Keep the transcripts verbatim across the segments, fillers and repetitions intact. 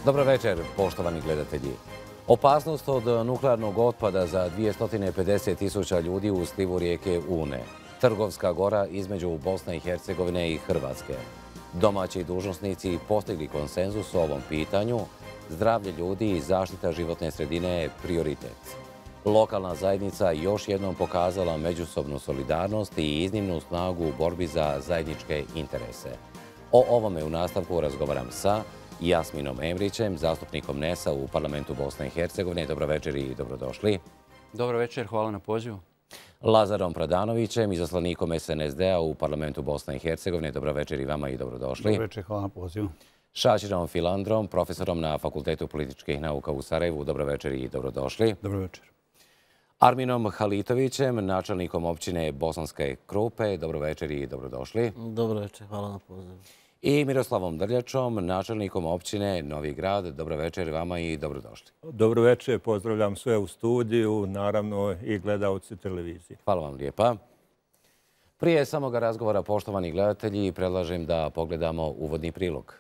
Dobro večer, poštovani gledatelji. Opasnost od nuklearnog otpada za dvjesto pedeset tisuća ljudi u slivu rijeke Une. Trgovska gora između Bosne i Hercegovine i Hrvatske. Domaći dužnosnici postigli konsenzus o ovom pitanju. Zdravlje ljudi i zaštita životne sredine je prioritet. Lokalna zajednica još jednom pokazala međusobnu solidarnost i iznimnu snagu u borbi za zajedničke interese. O ovome u nastavku razgovaram sa Jasminom Emrićem, zastupnikom N E S-a u parlamentu Bosne i Hercegovine. Dobro večer i dobrodošli. Dobro večer, hvala na pozivu. Lazarom Pradanovićem, izaslanikom S N S D-a u parlamentu Bosne i Hercegovine. Dobro večer i vama i dobrodošli. Dobro večer, hvala na pozivu. Šačirom Filandrom, profesorom na Fakultetu političkih nauka u Sarajevu. Dobro večer i dobrodošli. Dobro večer. Arminom Halitovićem, načelnikom općine Bosanske Krupe. Dobro večer i dobrodošli. Dobro večer, hvala na pozivu. I Miroslavom Drljačom, načelnikom općine Novi Grad. Dobro večer vama i dobrodošli. Dobro večer, pozdravljam sve u studiju, naravno i gledalci televizije. Hvala vam lijepa. Prije samoga razgovora, poštovani gledatelji, predlažem da pogledamo uvodni prilog.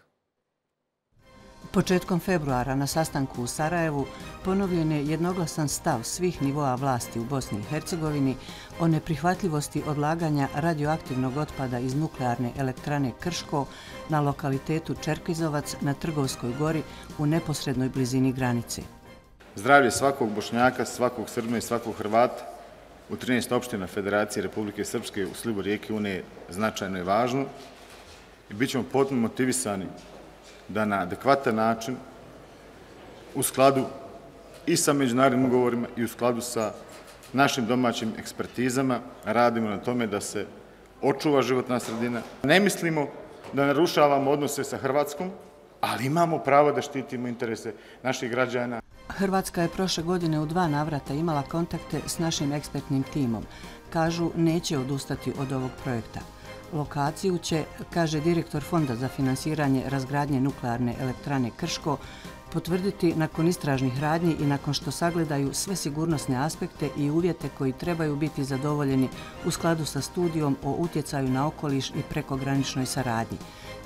Početkom februara na sastanku u Sarajevu ponovljen je jednoglasan stav svih nivoa vlasti u Bosni i Hercegovini o neprihvatljivosti odlaganja radioaktivnog otpada iz nuklearne elektrane Krško na lokalitetu Čerkezovac na Trgovskoj gori u neposrednoj blizini granice. Zdravlje svakog Bošnjaka, svakog Srbina i svakog Hrvata u trinaest opština Federacije Republike Srpske u slivu rijeke Une je značajno i važno i bit ćemo potpuno motivisani da na adekvatan način, u skladu i sa međunarodnim ugovorima i u skladu sa našim domaćim ekspertizama, radimo na tome da se očuva životna sredina. Ne mislimo da narušavamo odnose sa Hrvatskom, ali imamo pravo da štitimo interese naših građana. Hrvatska je prošle godine u dva navrata imala kontakte s našim ekspertnim timom. Kažu, neće odustati od ovog projekta. Lokaciju će, kaže direktor Fonda za finansiranje razgradnje nuklearne elektrane Krško, potvrditi nakon istražnih radnji i nakon što sagledaju sve sigurnosne aspekte i uvjete koji trebaju biti zadovoljeni u skladu sa studijom o utjecaju na okoliš i prekograničnoj saradnji.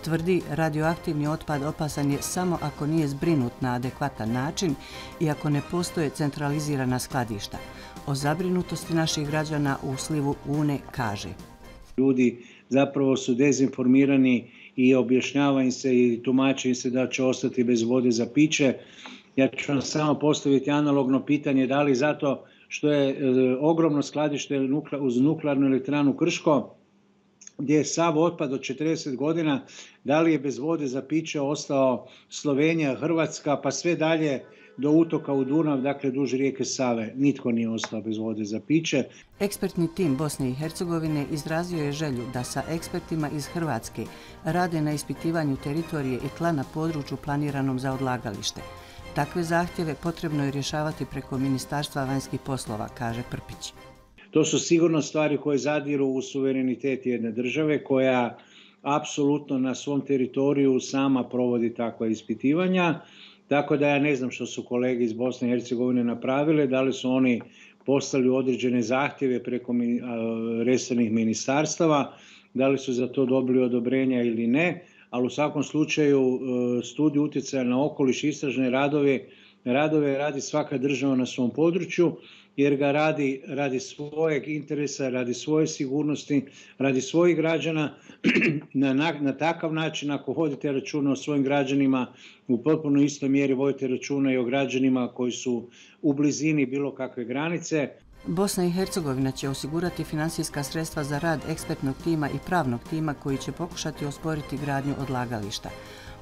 Tvrdi, radioaktivni otpad opasan je samo ako nije zbrinut na adekvatan način i ako ne postoje centralizirana skladišta. O zabrinutosti naših građana u slivu Une kaže: Ljudi zapravo su dezinformirani i objašnjava im se i tumači im se da će ostati bez vode za piće. Ja ću vam samo postaviti analogno pitanje, da li zato što je e, ogromno skladište uz nuklearnu elektranu Krško, gdje je sav otpad od četrdeset godina, da li je bez vode za piće ostao Slovenija, Hrvatska, pa sve dalje do utoka u Dunav, dakle duž rijeke Save. Nitko nije ostao bez vode za piće. Ekspertni tim Bosne i Hercegovine izrazio je želju da sa ekspertima iz Hrvatske rade na ispitivanju teritorije i tla na području planiranom za odlagalište. Takve zahtjeve potrebno je rješavati preko Ministarstva vanjskih poslova, kaže Prpić. To su sigurno stvari koje zadiru u suverenitet jedne države koja apsolutno na svom teritoriju sama provodi takva ispitivanja. Tako da ja ne znam što su kolege iz Bosne i Hercegovine napravile, da li su oni poslali određene zahtjeve preko resornih ministarstava, da li su za to dobili odobrenja ili ne, ali u svakom slučaju studiju utjecaja na okoliš, istražne radove, radove radi svaka država na svom području, jer ga radi radi svojeg interesa, radi svoje sigurnosti, radi svojih građana. Na, na, na takav način, ako vodite računa o svojim građanima, u potpuno istoj mjeri vodite računa i o građanima koji su u blizini bilo kakve granice. Bosna i Hercegovina će osigurati financijska sredstva za rad ekspertnog tima i pravnog tima koji će pokušati osporiti gradnju odlagališta.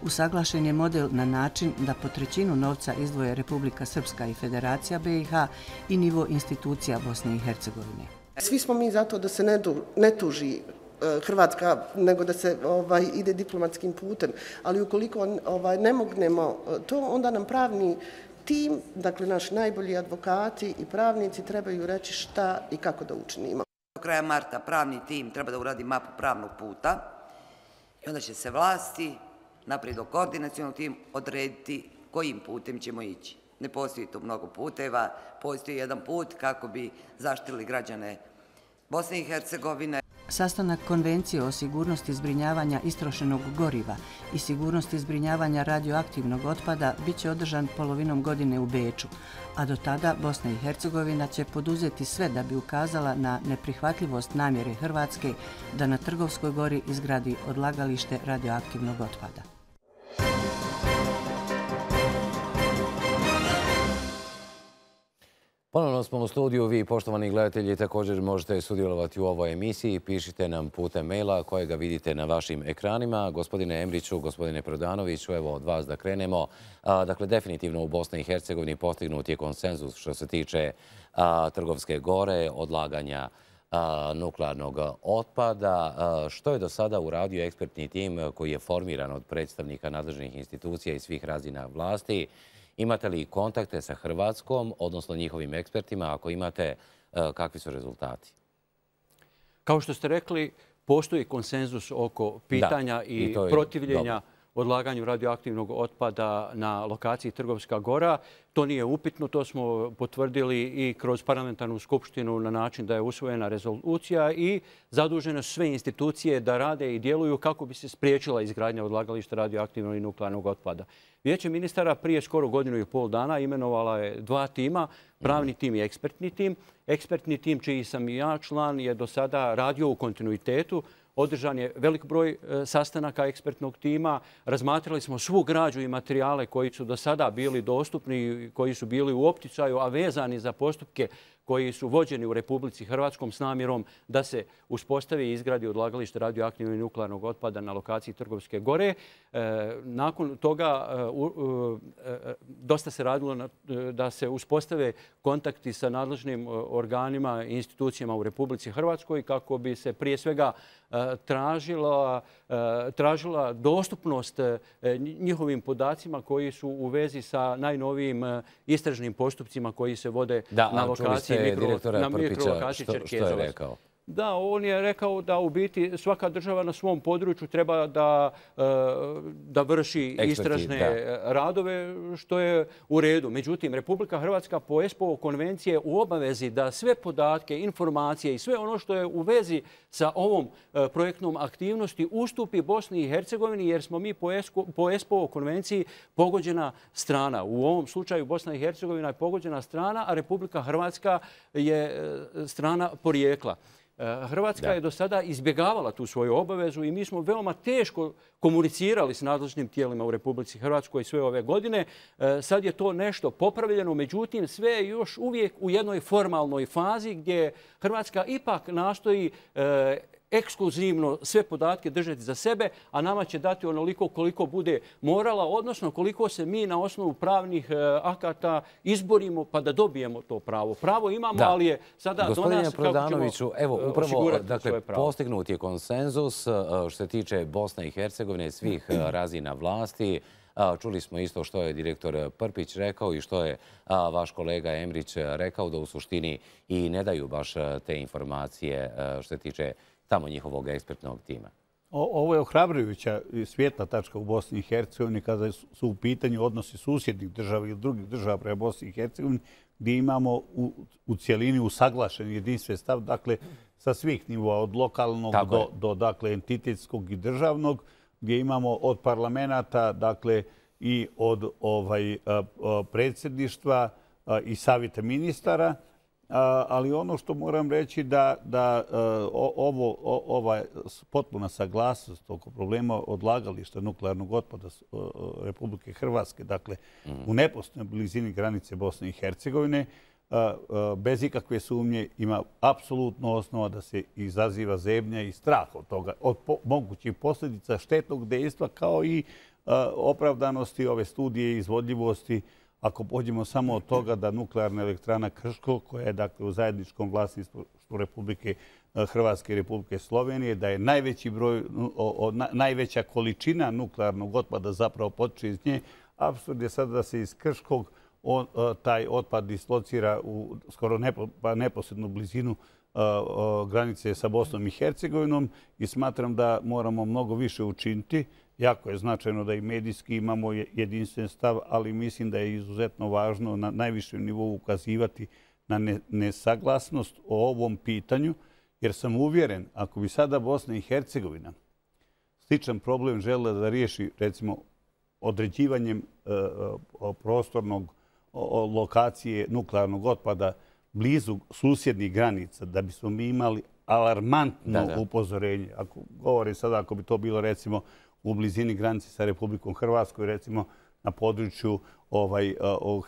Usaglašen je model na način da po trećinu novca izdvoje Republika Srpska i Federacija B i H i nivo institucija Bosne i Hercegovine. Svi smo mi zato da se ne, du, ne tuži Hrvatska, nego da se ovaj, ide diplomatskim putem. Ali ukoliko ovaj, ne mognemo to, onda nam pravni tim, dakle naši najbolji advokati i pravnici trebaju reći šta i kako da učinimo. Do kraja marta pravni tim treba da uradi mapu pravnog puta i onda će se vlasti naprijed do koordinacionog tim odrediti kojim putem ćemo ići. Ne postoji tu mnogo puteva, postoji jedan put kako bi zaštitili građane Bosne i Hercegovine. Sastanak Konvencije o sigurnosti zbrinjavanja istrošenog goriva i sigurnosti zbrinjavanja radioaktivnog otpada bit će održan polovinom godine u Beču, a do tada Bosna i Hercegovina će poduzeti sve da bi ukazala na neprihvatljivost namjere Hrvatske da na Trgovskoj gori izgradi odlagalište radioaktivnog otpada. Ponovno smo u studiju. Vi, poštovani gledatelji, također možete sudjelovati u ovoj emisiji. Pišite nam putem maila kojega vidite na vašim ekranima. Gospodine Emriću, gospodine Prodanoviću, evo od vas da krenemo. Dakle, definitivno u Bosni i Hercegovini postignut je konsenzus što se tiče Trgovske gore, odlaganja nuklearnog otpada. Što je do sada uradio ekspertni tim koji je formiran od predstavnika nadležnih institucija i svih razina vlasti? Imate li kontakte sa Hrvatskom, odnosno njihovim ekspertima? Ako imate, kakvi su rezultati? Kao što ste rekli, postoji konsenzus oko pitanja i protivljenja odlaganju radioaktivnog otpada na lokaciji Trgovska gora. To nije upitno, to smo potvrdili i kroz parlamentarnu skupštinu na način da je usvojena rezolucija i zadužene su sve institucije da rade i djeluju kako bi se spriječila izgradnja odlagališta radioaktivnog i nuklearnog otpada. Vijeće ministara prije skoro godinu i pol dana imenovala je dva tima, pravni tim i ekspertni tim. Ekspertni tim, čiji sam i ja član, je do sada radio u kontinuitetu. Održan je velik broj sastanaka ekspertnog tima. Razmatrali smo svu građu i materijale koji su do sada bili dostupni, koji su bili u opticaju, a vezani za postupke koji su vođeni u Republici Hrvatskom s namjerom da se uspostavi i izgradi odlagalište radioaktivnog i nuklearnog otpada na lokaciji Trgovske gore. Nakon toga dosta se radilo da se uspostave kontakti sa nadležnim organima i institucijama u Republici Hrvatskoj kako bi se prije svega tražila, tražila dostupnost njihovim podacima koji su u vezi sa najnovijim istražnim postupcima koji se vode na lokaciji direktora Prpića, što je rekao? Da, on je rekao da u biti svaka država na svom području treba da, da vrši istražne radove, što je u redu. Međutim, Republika Hrvatska po ESPO konvencije u obavezi da sve podatke, informacije i sve ono što je u vezi sa ovom projektnom aktivnosti ustupi Bosni i Hercegovini, jer smo mi po ESPO konvenciji pogođena strana. U ovom slučaju Bosna i Hercegovina je pogođena strana, a Republika Hrvatska je strana porijekla. Hrvatska je do sada izbjegavala tu svoju obavezu i mi smo veoma teško komunicirali s nadležnim tijelima u Republici Hrvatskoj sve ove godine. Sad je to nešto popravljeno, međutim sve je još uvijek u jednoj formalnoj fazi gdje Hrvatska ipak nastoji ekskluzivno sve podatke držati za sebe, a nama će dati onoliko koliko bude morala, odnosno koliko se mi na osnovu pravnih akata izborimo pa da dobijemo to pravo. Pravo imamo, ali je sada do nas kako ćemo evo, upravo, dakle, postignut je konsenzus što se tiče Bosne i Hercegovine, svih razina vlasti. Čuli smo isto što je direktor Prpić rekao i što je vaš kolega Emrić rekao, da u suštini i ne daju baš te informacije što se tiče tamo njihovog ekspertnog tima. Ovo je ohrabrujuća svijetla tačka u Bosni i Hercegovini kada su u pitanju odnosi susjednih država ili drugih država prema Bosni i Hercegovini, gdje imamo u, u cijelini usaglašen jedinstven stav, dakle, sa svih nivoa, od lokalnog do, do dakle, entitetskog i državnog, gdje imamo od parlamenta, dakle, i od ovaj, predsjedništva i savjeta ministara. Ali ono što moram reći da, da ovo, ova potpuna saglasnost oko problema odlagališta nuklearnog otpada Republike Hrvatske, dakle u neposrednoj blizini granice Bosne i Hercegovine, bez ikakve sumnje ima apsolutno osnova da se izaziva zebnja i strah od toga, od mogućih posljedica štetnog dejstva, kao i opravdanosti ove studije i izvodljivosti. Ako pođemo samo od toga da nuklearna elektrana Krško, koja je dakle u zajedničkom vlasništvu Republike Hrvatske i Republike Slovenije, da je najveći broj, o, o, najveća količina nuklearnog otpada zapravo potiče iz nje, apsurd je sada da se iz Krškog on, taj otpad dislocira u skoro nepo, pa neposrednu blizinu granice sa Bosnom i Hercegovinom i smatram da moramo mnogo više učiniti. Jako je značajno da i medijski imamo jedinstven stav, ali mislim da je izuzetno važno na najvišem nivou ukazivati na nesaglasnost o ovom pitanju, Jer sam uvjeren, ako bi sada Bosna i Hercegovina sličan problem želela da riješi, recimo, određivanjem prostornog lokacije nuklearnog otpada blizu susjednih granica, da bismo mi imali alarmantno upozorenje. Ako govorim sada, ako bi to bilo, recimo, u blizini granice sa Republikom Hrvatskoj, recimo, na području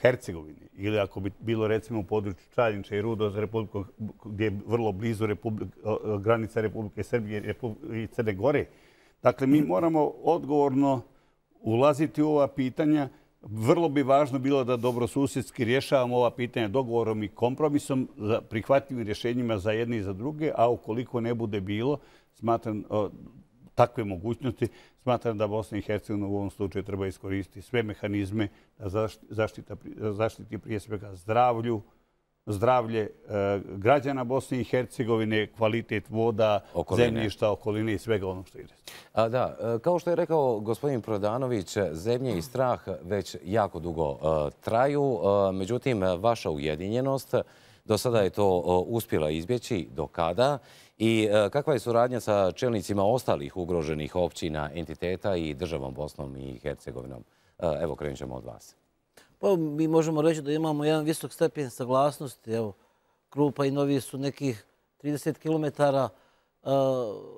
Hercegovine, ili ako bi bilo, recimo, u području Čaljinča i Rudoza, gdje je vrlo blizu granica Republike Srbije i Crne Gore. Dakle, mi moramo odgovorno ulaziti u ova pitanja. Vrlo bi važno bilo da dobrosusjedski rješavamo ova pitanja dogovorom i kompromisom, prihvatljivim rješenjima za jedne i za druge, a ukoliko ne bude bilo, smatram takve mogućnosti, smatram da Bosna i Hercegovina u ovom slučaju treba iskoristiti sve mehanizme da zaštiti prije svega zdravlju, zdravlje građana Bosne i Hercegovine, kvalitet voda, zemljišta, okoline i svega onog što ide. Da, kao što je rekao gospodin Prodanović, zebnje i strah već jako dugo traju. Međutim, vaša ujedinjenost do sada je to uspjela izbjeći. Do kada? I kakva je suradnja sa čelnicima ostalih ugroženih općina, entiteta i državom Bosnom i Hercegovinom? Evo, krenut ćemo od vas. Pa mi možemo reći da imamo jedan visok stepen saglasnosti. Evo, Krupa i Novi su nekih trideset kilometara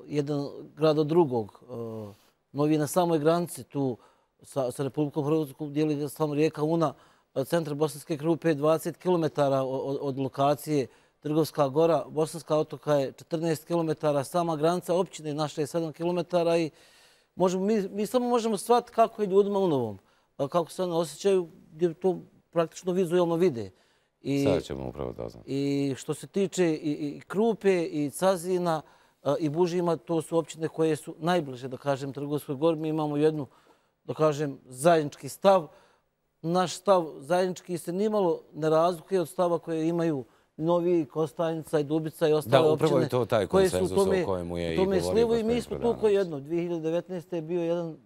jedan grad od drugog. Novi je na samoj granici tu sa Republikom Hrvatskom, dijeli samo rijeka Una. Centar Bosanske Krupe je dvadeset kilometara od lokacije Trgovska Gora. Bosanska otoka je četrnaest kilometara. Sama granica općine naša je sedam kilometara i mi samo možemo shvatiti kako je ljudima u Novom. Kako se one osjećaju, gdje to praktično vizualno vide. Sada ćemo upravo doznati. I što se tiče i Krupe, i Cazina, i Bužima, to su općine koje su najbliže, da kažem, Trgovskoj Gori. Mi imamo jednu, da kažem, zajednički stav. Naš stav zajednički se nimalo ne razlikuje od stava koje imaju Novi, Kostajnica i Dubica i ostale općine. Da, upravo je to taj konsenzus o kojemu je i govorio gospodin Prodanović. I mi smo tu koji jedno. dvije hiljade devetnaeste. je bio jedan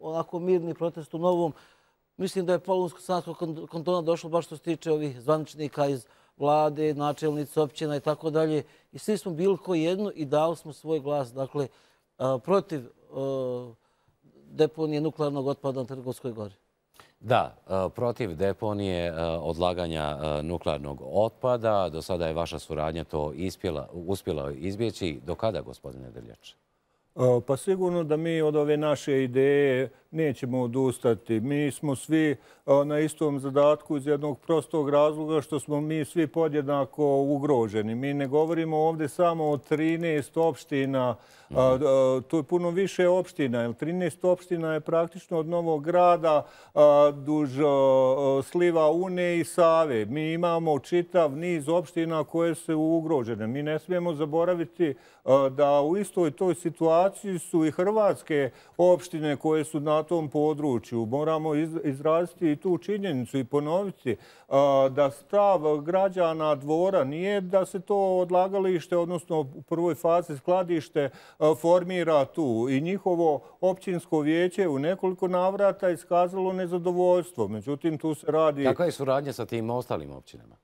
onako mirni protest u Novom. Mislim da je Polunsko-Sanskog kantona došlo baš što se tiče ovih zvaničnika iz vlade, načelnica općina i tako dalje. I svi smo bili koji jedno i dali smo svoj glas, dakle, protiv deponije nuklearnog otpada na Trgovskoj Gori. Da, protiv deponije odlaganja nuklearnog otpada. Do sada je vaša suradnja to uspjela izbjeći. Do kada, gospodine Drljač? Pa sigurno da mi od ove naše ideje nećemo odustati. Mi smo svi na istom zadatku iz jednog prostog razloga što smo mi svi podjednako ugroženi. Mi ne govorimo ovdje samo o trinaest opština. To je puno više opština. trinaest opština je praktično od Novog Grada duž sliva Une i Save. Mi imamo čitav niz opština koje su ugrožene. Mi ne smijemo zaboraviti da u istoj toj situaciji su i hrvatske opštine koje su na tom području. Moramo izraziti i tu činjenicu i ponoviti da stav građana Dvora nije da se to odlagalište, odnosno u prvoj fazi skladište, formira tu. I njihovo općinsko vijeće u nekoliko navrata iskazalo nezadovoljstvo. Međutim, tu se radi... Kakva je suradnja sa tim ostalim općinama?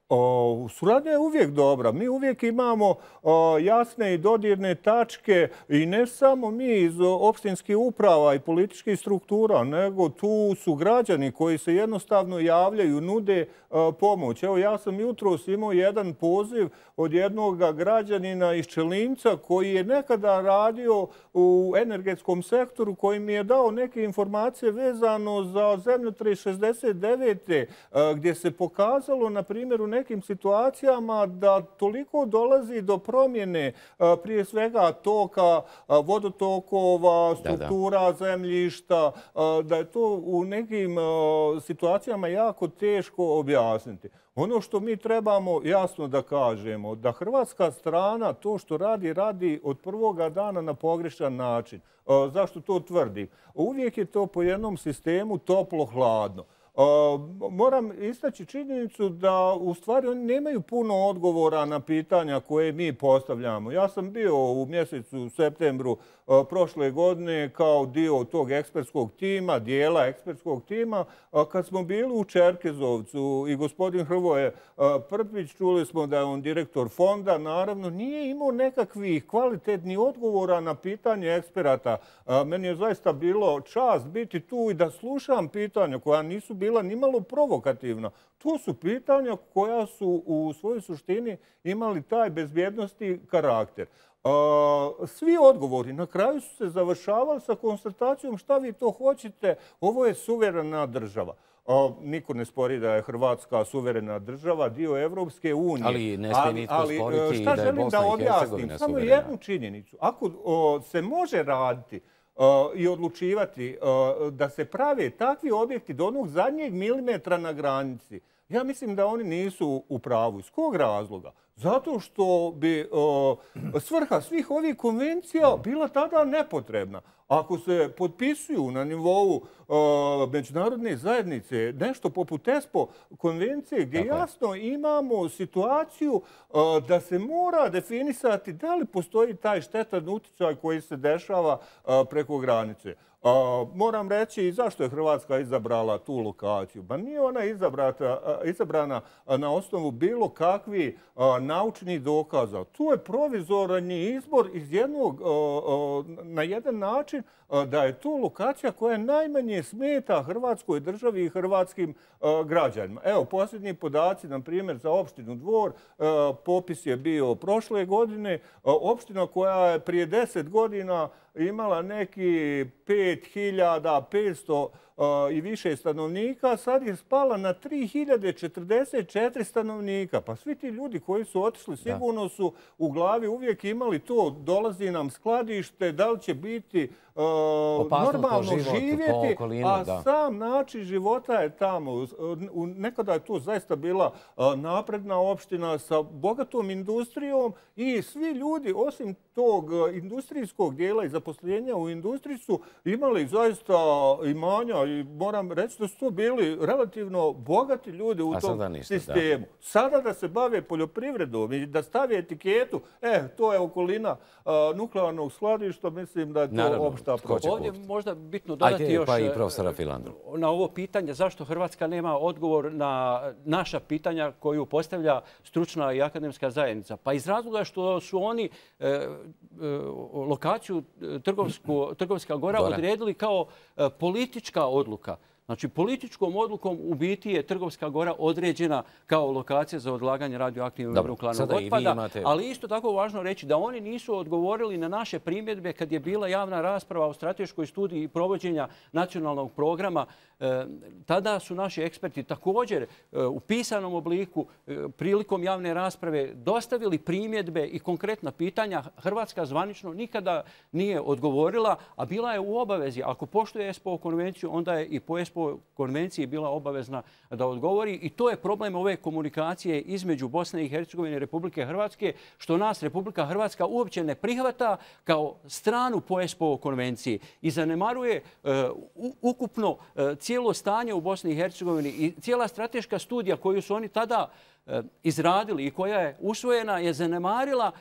Suradnja je uvijek dobra. Mi uvijek imamo jasne i dodirne tačke i ne samo mi iz opštinskih uprava i političkih struktura, nego tu su građani koji se jednostavno javljaju, nude pomoć. Evo, ja sam jutros imao jedan poziv od jednog građanina iz Čelinca koji je nekada radio u energetskom sektoru, koji mi je dao neke informacije vezano za zemljotres šezdeset devete. gdje se pokazalo, na primjer, u nekim situacijama da toliko dolazi do promjene prije svega toka, vodotokova, struktura zemljišta, da je to u nekim situacijama jako teško objasniti. Ono što mi trebamo jasno da kažemo, da hrvatska strana to što radi, radi od prvoga dana na pogrešan način. Zašto to tvrdim? Uvijek je to po jednom sistemu toplo-hladno. Moram istaći činjenicu da u stvari oni nemaju puno odgovora na pitanja koje mi postavljamo. Ja sam bio u mjesecu septembru prošle godine kao dio tog ekspertskog tima, dijela ekspertskog tima. Kad smo bili u Čerkezovcu i gospodin Hrvoje Prpić, čuli smo da je on direktor fonda, naravno nije imao nekakvih kvalitetnih odgovora na pitanje eksperata. Meni je zaista bilo čast biti tu i da slušam pitanja koja nisu bila nimalo provokativna. To su pitanja koja su u svojoj suštini imali taj bezbjednosti karakter. Svi odgovori na kraju su se završavali sa konstatacijom šta vi to hoćete, ovo je suverena država. Niko ne spori da je Hrvatska suverena država, dio Evropske unije. Ali ne smije nitko sporiti da je Bosna i Hercegovina suverena. Samo jednu činjenicu. Ako se može raditi i odlučivati da se prave takvi objekti do onog zadnjeg milimetra na granici, ja mislim da oni nisu u pravu. Iz kog razloga? Zato što bi svrha svih ovih konvencija bila tada nepotrebna. Ako se potpisuju na nivou međunarodne zajednice nešto poput ESPO konvencije gdje jasno imamo situaciju da se mora definisati da li postoji taj štetan utjecaj koji se dešava preko granice. Moram reći i zašto je Hrvatska izabrala tu lokaciju. Ba nije ona izabrana na osnovu bilo kakvih naučnih dokaza. Tu je provizorni izbor iz jednog, na jedan način da je to lokacija koja najmanje smeta Hrvatskoj državi i hrvatskim građanima. Evo, posljednji podaci, na primjer, za opštinu Dvor, popis je bio prošle godine. Opština koja je prije deset godina imala neki pet hiljada petsto i više stanovnika, sad je spala na tri hiljade četrdeset četiri stanovnika. Pa svi ti ljudi koji su otišli sigurno su u glavi uvijek imali to, dolazi nam skladište, da li će biti normalno živjeti, a sam način života je tamo. Nekada je to zaista bila napredna opština sa bogatom industrijom i svi ljudi, osim tog industrijskog dijela i zaposlenja u industriji, su imali zaista imanja i moram reći da su to bili relativno bogati ljudi u tom sistemu. Sada da se bave poljoprivredom i da stave etiketu, e, to je okolina nuklearnog skladišta, mislim da je to opšta propust. Ovdje možda bitno dodati još na ovo pitanje zašto Hrvatska nema odgovor na naša pitanja koju postavlja stručna i akademska zajednica. Pa iz razloga što su oni lokaciju Trgovska Gora odredili kao politička odluka. Znači, političkom odlukom u biti je Trgovska Gora određena kao lokacija za odlaganje radioaktivnog nuklearnog otpada, ali isto tako važno reći da oni nisu odgovorili na naše primjedbe kad je bila javna rasprava o strateškoj studiji provođenja nacionalnog programa. Tada su naši eksperti također u pisanom obliku prilikom javne rasprave dostavili primjedbe i konkretna pitanja. Hrvatska zvanično nikada nije odgovorila, a bila je u obavezi. Ako poštuje ESPO konvenciju, onda je i po ESPO konvenciji bila obavezna da odgovori. I to je problem ove komunikacije između Bosne i Hercegovine i Republike Hrvatske, što nas Republika Hrvatska uopće ne prihvata kao stranu po ESPO konvenciji i zanemaruje ukupno cijelo stanje u Bosni i Hercegovini i cijela strateška studija koju su oni tada izradili i koja je usvojena je zanemarila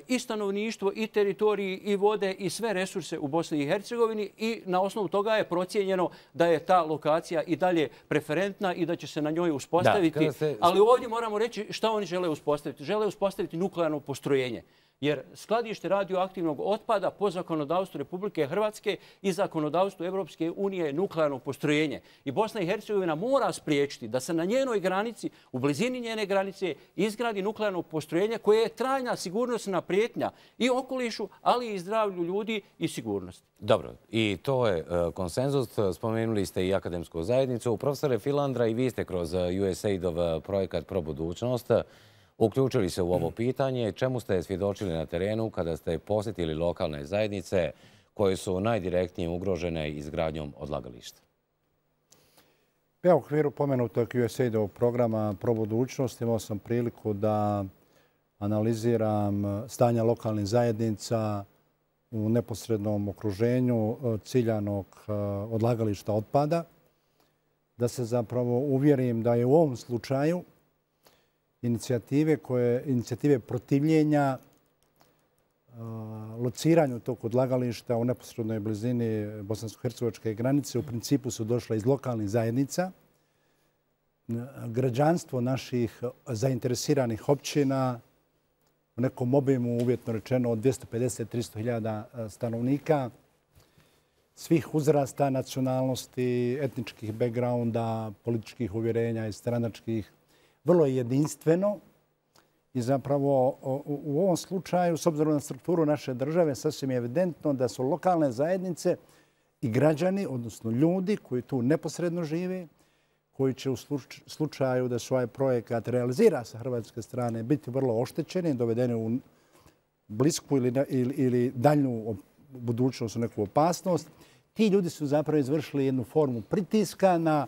i stanovništvo, i teritoriji, i vode, i sve resurse u Bosni i Hercegovini i na osnovu toga je procijenjeno da je ta lokacija i dalje preferentna i da će se na njoj uspostaviti. Ali ovdje moramo reći šta oni žele uspostaviti. Žele uspostaviti nuklearno postrojenje. Jer skladište radioaktivnog otpada po zakonodavstvu Republike Hrvatske i zakonodavstvu Evropske unije je nuklearno postrojenje. I Bosna i Hercegovina mora spriječiti da se na njenoj granici, u blizini njene granice, izgradi nuklearno postrojenje koje je trajna sigurnosna prijetnja i okolišu, ali i zdravlju ljudi i sigurnosti. Dobro, i to je konsenzus. Spomenuli ste i akademsku zajednicu. Profesore Filandra, i vi ste kroz U S A I D-ov projekat Pro budućnost uključili se u ovo pitanje. Čemu ste svjedočili na terenu kada ste posjetili lokalne zajednice koje su najdirektnije ugrožene izgradnjom odlagališta? Ja u okviru pomenutog U S A I D-ovog programa Pro budućnost imao sam priliku da analiziram stanja lokalnih zajednica u neposrednom okruženju ciljanog odlagališta otpada, da se zapravo uvjerim da je u ovom slučaju inicijative, koje, inicijative protivljenja lociranju tog odlagališta u neposrednoj blizini bosansko-hercegovačke granice u principu su došle iz lokalnih zajednica. Građanstvo naših zainteresiranih općina u nekom obimu, uvjetno rečeno, od dvjesto pedeset do tristo hiljada stanovnika, svih uzrasta, nacionalnosti, etničkih backgrounda, političkih uvjerenja i stranačkih, vrlo je jedinstveno. I zapravo u ovom slučaju, s obzirom na strukturu naše države, sasvim je evidentno da su lokalne zajednice i građani, odnosno ljudi koji tu neposredno žive, koji će u slučaju da se ovaj projekat realizira sa hrvatske strane biti vrlo oštećeni, dovedeni u blisku ili, ili, ili daljnju budućnost, u neku opasnost. Ti ljudi su zapravo izvršili jednu formu pritiska na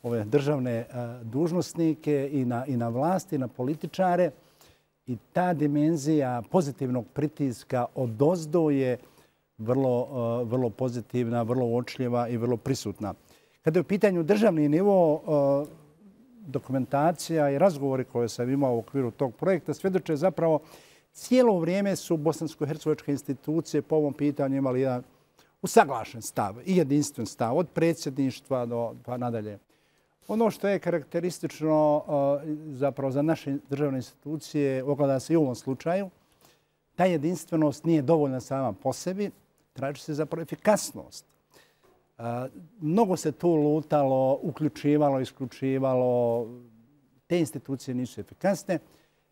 ove državne dužnosnike i na, i na vlasti, i na političare. I ta dimenzija pozitivnog pritiska odozdo je vrlo, vrlo pozitivna, vrlo uočljiva i vrlo prisutna. Kada je u pitanju državni nivo, dokumentacija i razgovori koje sam imao u okviru tog projekta svjedoče zapravo cijelo vrijeme su bosansko-hercegovačke institucije po ovom pitanju imali jedan usaglašen stav i jedinstven stav od predsjedništva do pa nadalje. Ono što je karakteristično zapravo za naše državne institucije, ogleda se i u ovom slučaju, ta jedinstvenost nije dovoljna sama po sebi, traži se zapravo efikasnost. Mnogo se tu lutalo, uključivalo, isključivalo. Te institucije nisu efikasne.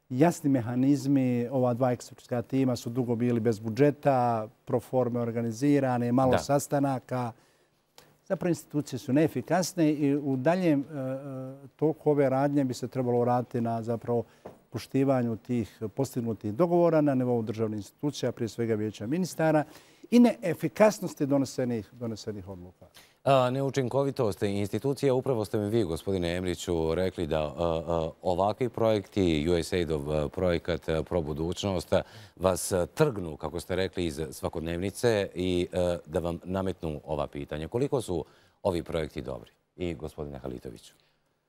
Jasni mehanizmi, ova dva ekspertska tima su dugo bili bez budžeta, proforme organizirane, malo da. sastanaka. Zapravo institucije su neefikasne i u daljem toku ove radnje bi se trebalo raditi na zapravo poštivanju tih postignutih dogovora na nivou državnih institucija, prije svega vijeća ministara, i neefikasnosti donesenih, donesenih odluka. A, neučinkovitost institucije, upravo ste mi vi, gospodine Emriću, rekli da a, a, ovakvi projekti, U S A I D-ov projekat Pro budućnost, vas trgnu, kako ste rekli, iz svakodnevnice i a, da vam nametnu ova pitanja. Koliko su ovi projekti dobri? I gospodine Halitoviću.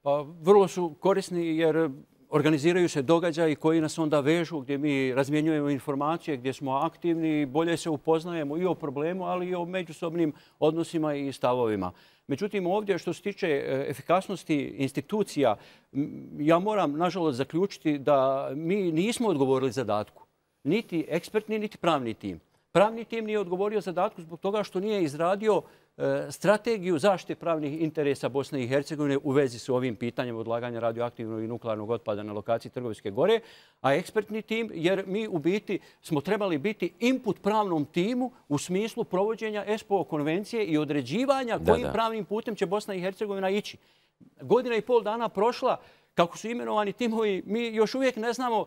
Pa, vrlo su korisni jer organiziraju se događaji koji nas onda vežu, gdje mi razmjenjujemo informacije, gdje smo aktivni, bolje se upoznajemo i o problemu, ali i o međusobnim odnosima i stavovima. Međutim, ovdje što se tiče efikasnosti institucija, ja moram, nažalost, zaključiti da mi nismo odgovorili zadatku. Niti ekspertni, niti pravni tim. Pravni tim nije odgovorio zadatku zbog toga što nije izradio strategiju zaštite pravnih interesa Bosne i Hercegovine u vezi s ovim pitanjem odlaganja radioaktivnog i nuklearnog otpada na lokaciji Trgovske gore, a ekspertni tim, jer mi u biti smo trebali biti input pravnom timu u smislu provođenja E S P O konvencije i određivanja kojim da, da. pravnim putem će Bosna i Hercegovina ići. Godina i pol dana prošla, kako su imenovani timovi, mi još uvijek ne znamo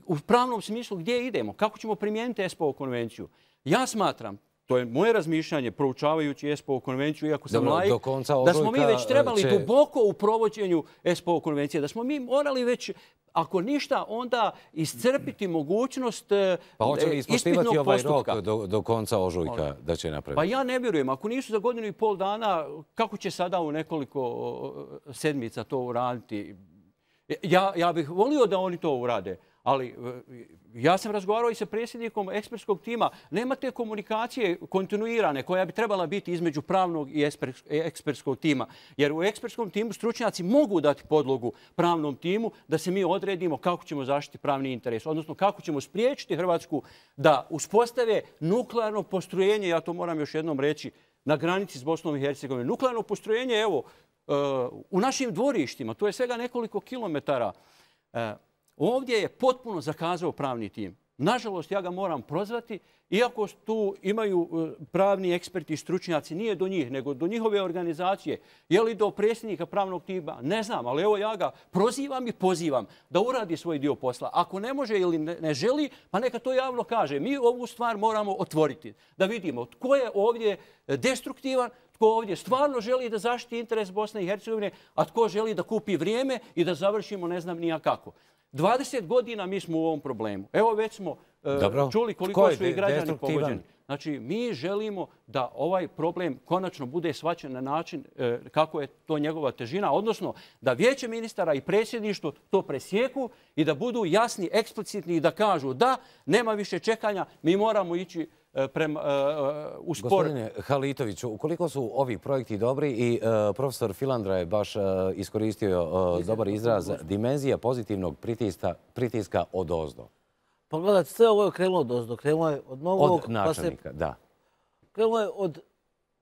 u pravnom smislu gdje idemo, kako ćemo primijeniti E S P O konvenciju. Ja smatram, to je moje razmišljanje, proučavajući E S P O konvenciju, iako sam laik, da smo mi već trebali će... duboko u provođenju E S P O konvencije, da smo mi morali već, ako ništa, onda iscrpiti mogućnost pa hoće li ispoštivati ovaj rok do, do konca ožujka da će napraviti? Pa ja ne vjerujem. Ako nisu za godinu i pol dana, kako će sada u nekoliko sedmica to uraditi? Ja, ja bih volio da oni to urade. Ali ja sam razgovarao i sa predsjednikom ekspertskog tima. Nema te komunikacije kontinuirane koja bi trebala biti između pravnog i ekspertskog tima. Jer u ekspertskom timu stručnjaci mogu dati podlogu pravnom timu da se mi odredimo kako ćemo zaštiti pravni interes. Odnosno kako ćemo spriječiti Hrvatsku da uspostave nuklearno postrojenje, ja to moram još jednom reći, na granici s Bosnom i Hercegovinom. Nuklearno postrojenje, evo, u našim dvorištima, to je svega nekoliko kilometara. Ovdje je potpuno zakazao pravni tim. Nažalost, ja ga moram prozvati, iako tu imaju pravni eksperti i stručnjaci, nije do njih, nego do njihove organizacije. Je li do predsjednika pravnog tima? Ne znam, ali evo ja ga prozivam i pozivam da uradi svoj dio posla. Ako ne može ili ne želi, pa neka to javno kaže. Mi ovu stvar moramo otvoriti, da vidimo tko je ovdje destruktivan, tko ovdje stvarno želi da zaštiti interes Bosne i Hercegovine, a tko želi da kupi vrijeme i da završimo ne znam nija kako. dvadeset godina mi smo u ovom problemu. Evo već smo Dobro. čuli koliko su i građani pogođeni. Znači, mi želimo da ovaj problem konačno bude shvaćen na način kako je to njegova težina, odnosno da vijeće ministara i predsjedništvo to presjeku i da budu jasni, eksplicitni i da kažu da, nema više čekanja, mi moramo ići prema u spor. Gospodine Halitoviću, ukoliko su ovi projekti dobri i profesor Filandra je baš iskoristio dobar izraz, dimenzija pozitivnog pritiska od ozdo. Pogledajte, sve ovo je krenulo od ozdo. Krenulo je od novog... Od načelnika, da. Krenulo je od,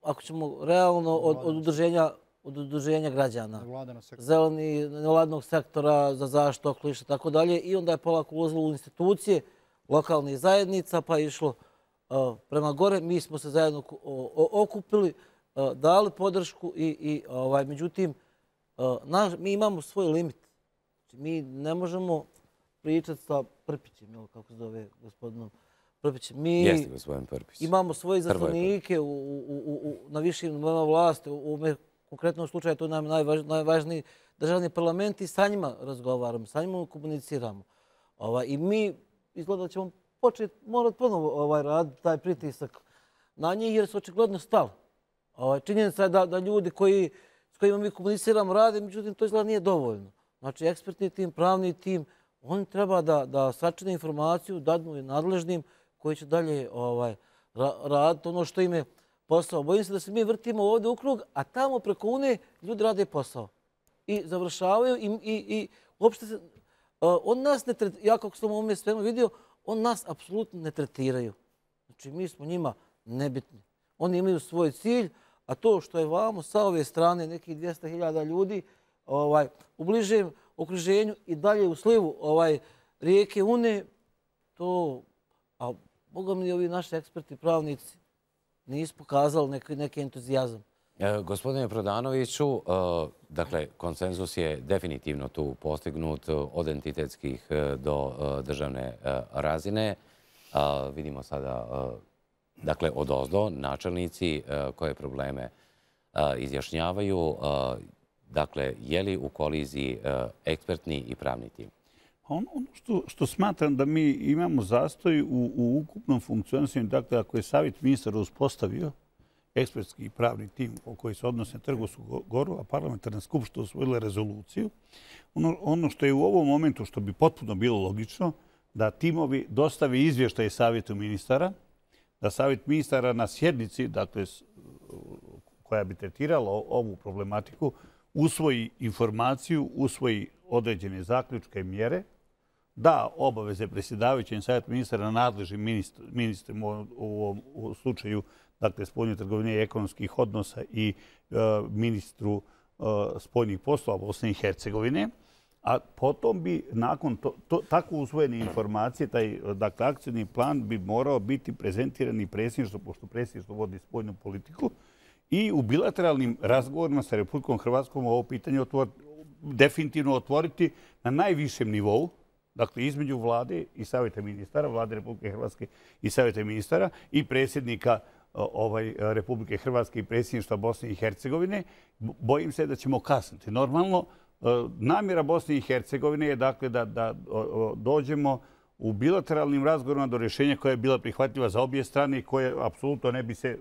ako ćemo realno, od udruženja od udruženja građana, zeleni, nevladnog sektora za zaštitu okoliša, tako dalje. I onda je polako ulazilo u institucije lokalnih zajednica, pa je išlo prema gore. Mi smo se zajedno okupili, dali podršku i međutim, mi imamo svoj limit. Mi ne možemo pričati sa Prpićem, kako se zove gospodinom Prpićem. Mi imamo svoje izaslanike na višim nivoima vlasti. U konkretnom slučaju to nam je najvažniji državni parlament i sa njima razgovaramo, sa njima komuniciramo. I mi izgleda da ćemo početi morati ponovo raditi taj pritisak na njih jer su očigledno stali. Činjenica je da ljudi s kojima mi komuniciramo rade, međutim to izgleda nije dovoljno. Znači ekspertni tim, pravni tim, oni treba da sačine informaciju, dadnu i nadležnim koji će dalje raditi ono što im je posao. Bojim se da se mi vrtimo ovdje u krug, a tamo preko Unije ljudi rade posao. I završavaju i uopšte se... On nas ne tretiraju, ja kako sam u ovome svemu vidio, on nas apsolutno ne tretiraju. Znači mi smo njima nebitni. Oni imaju svoj cilj, a to što je vamo sa ove strane nekih dvjesto hiljada ljudi u bližem okruženju i dalje u slivu rijeke Une, to, a Boga mi ovi naši eksperti, pravnici, nisu pokazali neki entuzijazam. Gospodine Prodanoviću, dakle, konsenzus je definitivno tu postignut od entitetskih do državne razine. Vidimo sada, dakle, od ozdo načelnici koje probleme izjašnjavaju. Dakle, je li u koliziji ekspertni i pravni tim? Ono što smatram da mi imamo zastoj u ukupnom funkcionisanju, dakle, ako je Savjet ministara uspostavio ekspertski i pravni tim koji se odnose na Trgovsku goru, a parlamentarna skupština usvojila rezoluciju, ono što je u ovom momentu, što bi potpuno bilo logično, da timovi dostave izvještaje Savjetu ministara, da Savjet ministara na sjednici, dakle, koja bi tretirala ovu problematiku, usvoji informaciju, usvoji određene zaključke i mjere, da obaveze predsjedavajućem Savjetu ministara nadležnim ministrima u slučaju dakle, spoljne trgovine i ekonomskih odnosa i ministru spoljnih poslova Bosne i Hercegovine, a potom bi nakon tako usvojene informacije, taj dakle, akcijni plan bi morao biti prezentiran i predsjedništvo, pošto predsjedništvo vodi spoljnu politiku, i u bilateralnim razgovorima sa Republikom Hrvatskom ovo pitanje definitivno otvoriti na najvišem nivou, dakle između vlade i Savjeta ministara, vlade Republike Hrvatske i Savjeta ministara i predsjednika Republike Hrvatske i predsjedništva Bosne i Hercegovine. Bojim se da ćemo kasniti. Normalno, namjera Bosne i Hercegovine je dakle da dođemo u bilateralnim razgovorima do rješenja koja je bila prihvatljiva za obje strane i koje apsolutno ne bi se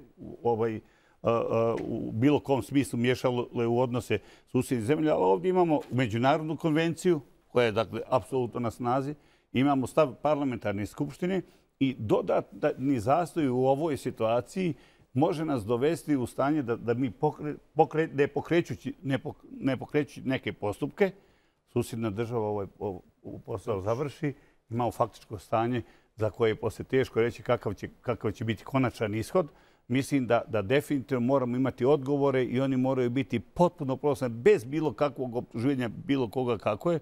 u bilo kom smislu miješalo u odnose susjednih zemlja. Ali ovdje imamo međunarodnu konvenciju koja je dakle apsolutno na snazi. Imamo stav parlamentarne skupštine i dodatni zastoj u ovoj situaciji može nas dovesti u stanje da mi ne pokrećući neke postupke, susjedna država ovaj posao završi, imamo faktičko stanje za koje je poslije teško reći kakav će biti konačan ishod. Mislim da definitivno moramo imati odgovore i oni moraju biti potpuno prostorni, bez bilo kakvog optuženja bilo koga kako je.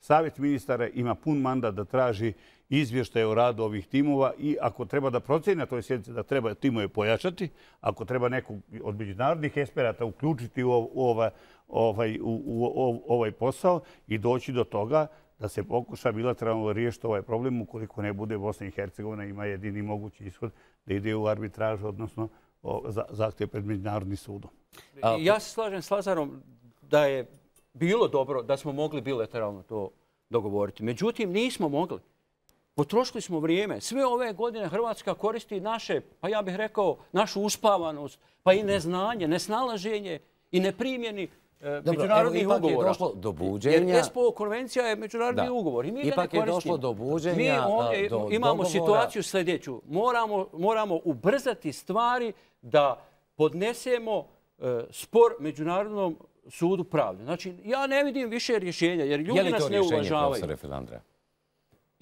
Savjet ministara ima pun mandat da traži izvještaje o radu ovih timova i ako treba da procjeni na toj sjednici da treba timove pojačati, ako treba nekog od međunarodnih eksperata uključiti u ovaj posao i doći do toga da se pokuša bilateralno riješiti ovaj problem ukoliko ne bude Bosna i Hercegovina ima jedini mogući ishod da ide u arbitražu, odnosno zahtjev pred Međunarodnim sudom. Ja se slažem s Lazarom da je bilo dobro da smo mogli bilateralno to dogovoriti. Međutim, nismo mogli. Potrošili smo vrijeme. Sve ove godine Hrvatska koristi naše, pa ja bih rekao, našu uspavanost, pa i neznanje, nesnalaženje i neprimjeni međunarodnih ugovora. Ipak je došlo do buđenja. Jer ESPO konvencija je međunarodni ugovor i mi ga ne koristimo. Ipak je došlo do buđenja, mi ovdje do imamo situaciju sljedeću. Moramo, moramo ubrzati stvari da podnesemo spor Međunarodnom sudu pravde. Znači, ja ne vidim više rješenja, jer ljudi nas ne uvažavaju. Je li to rješenje, profesore Filandra?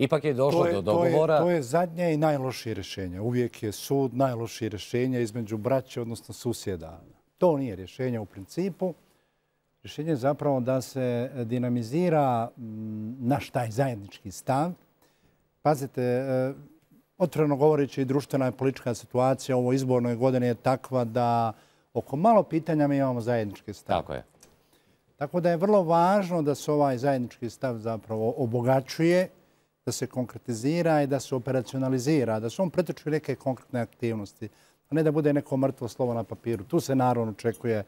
Ipak je došlo do dogovora. To je zadnje i najlošije rješenje. Uvijek je sud najlošije rješenje između braće, odnosno susjeda. To nije rješenje u principu. Rješenje je zapravo da se dinamizira naš taj zajednički stav. Pazite, otvoreno govoreći, društvena i politička situacija u ovoj izbornoj godini je takva da oko malo pitanja mi imamo zajednički stav. Tako je. Tako da je vrlo važno da se ovaj zajednički stav zapravo obogaćuje, da se konkretizira i da se operacionalizira, da se on pretoči neke konkretne aktivnosti, a ne da bude neko mrtvo slovo na papiru. Tu se naravno očekuje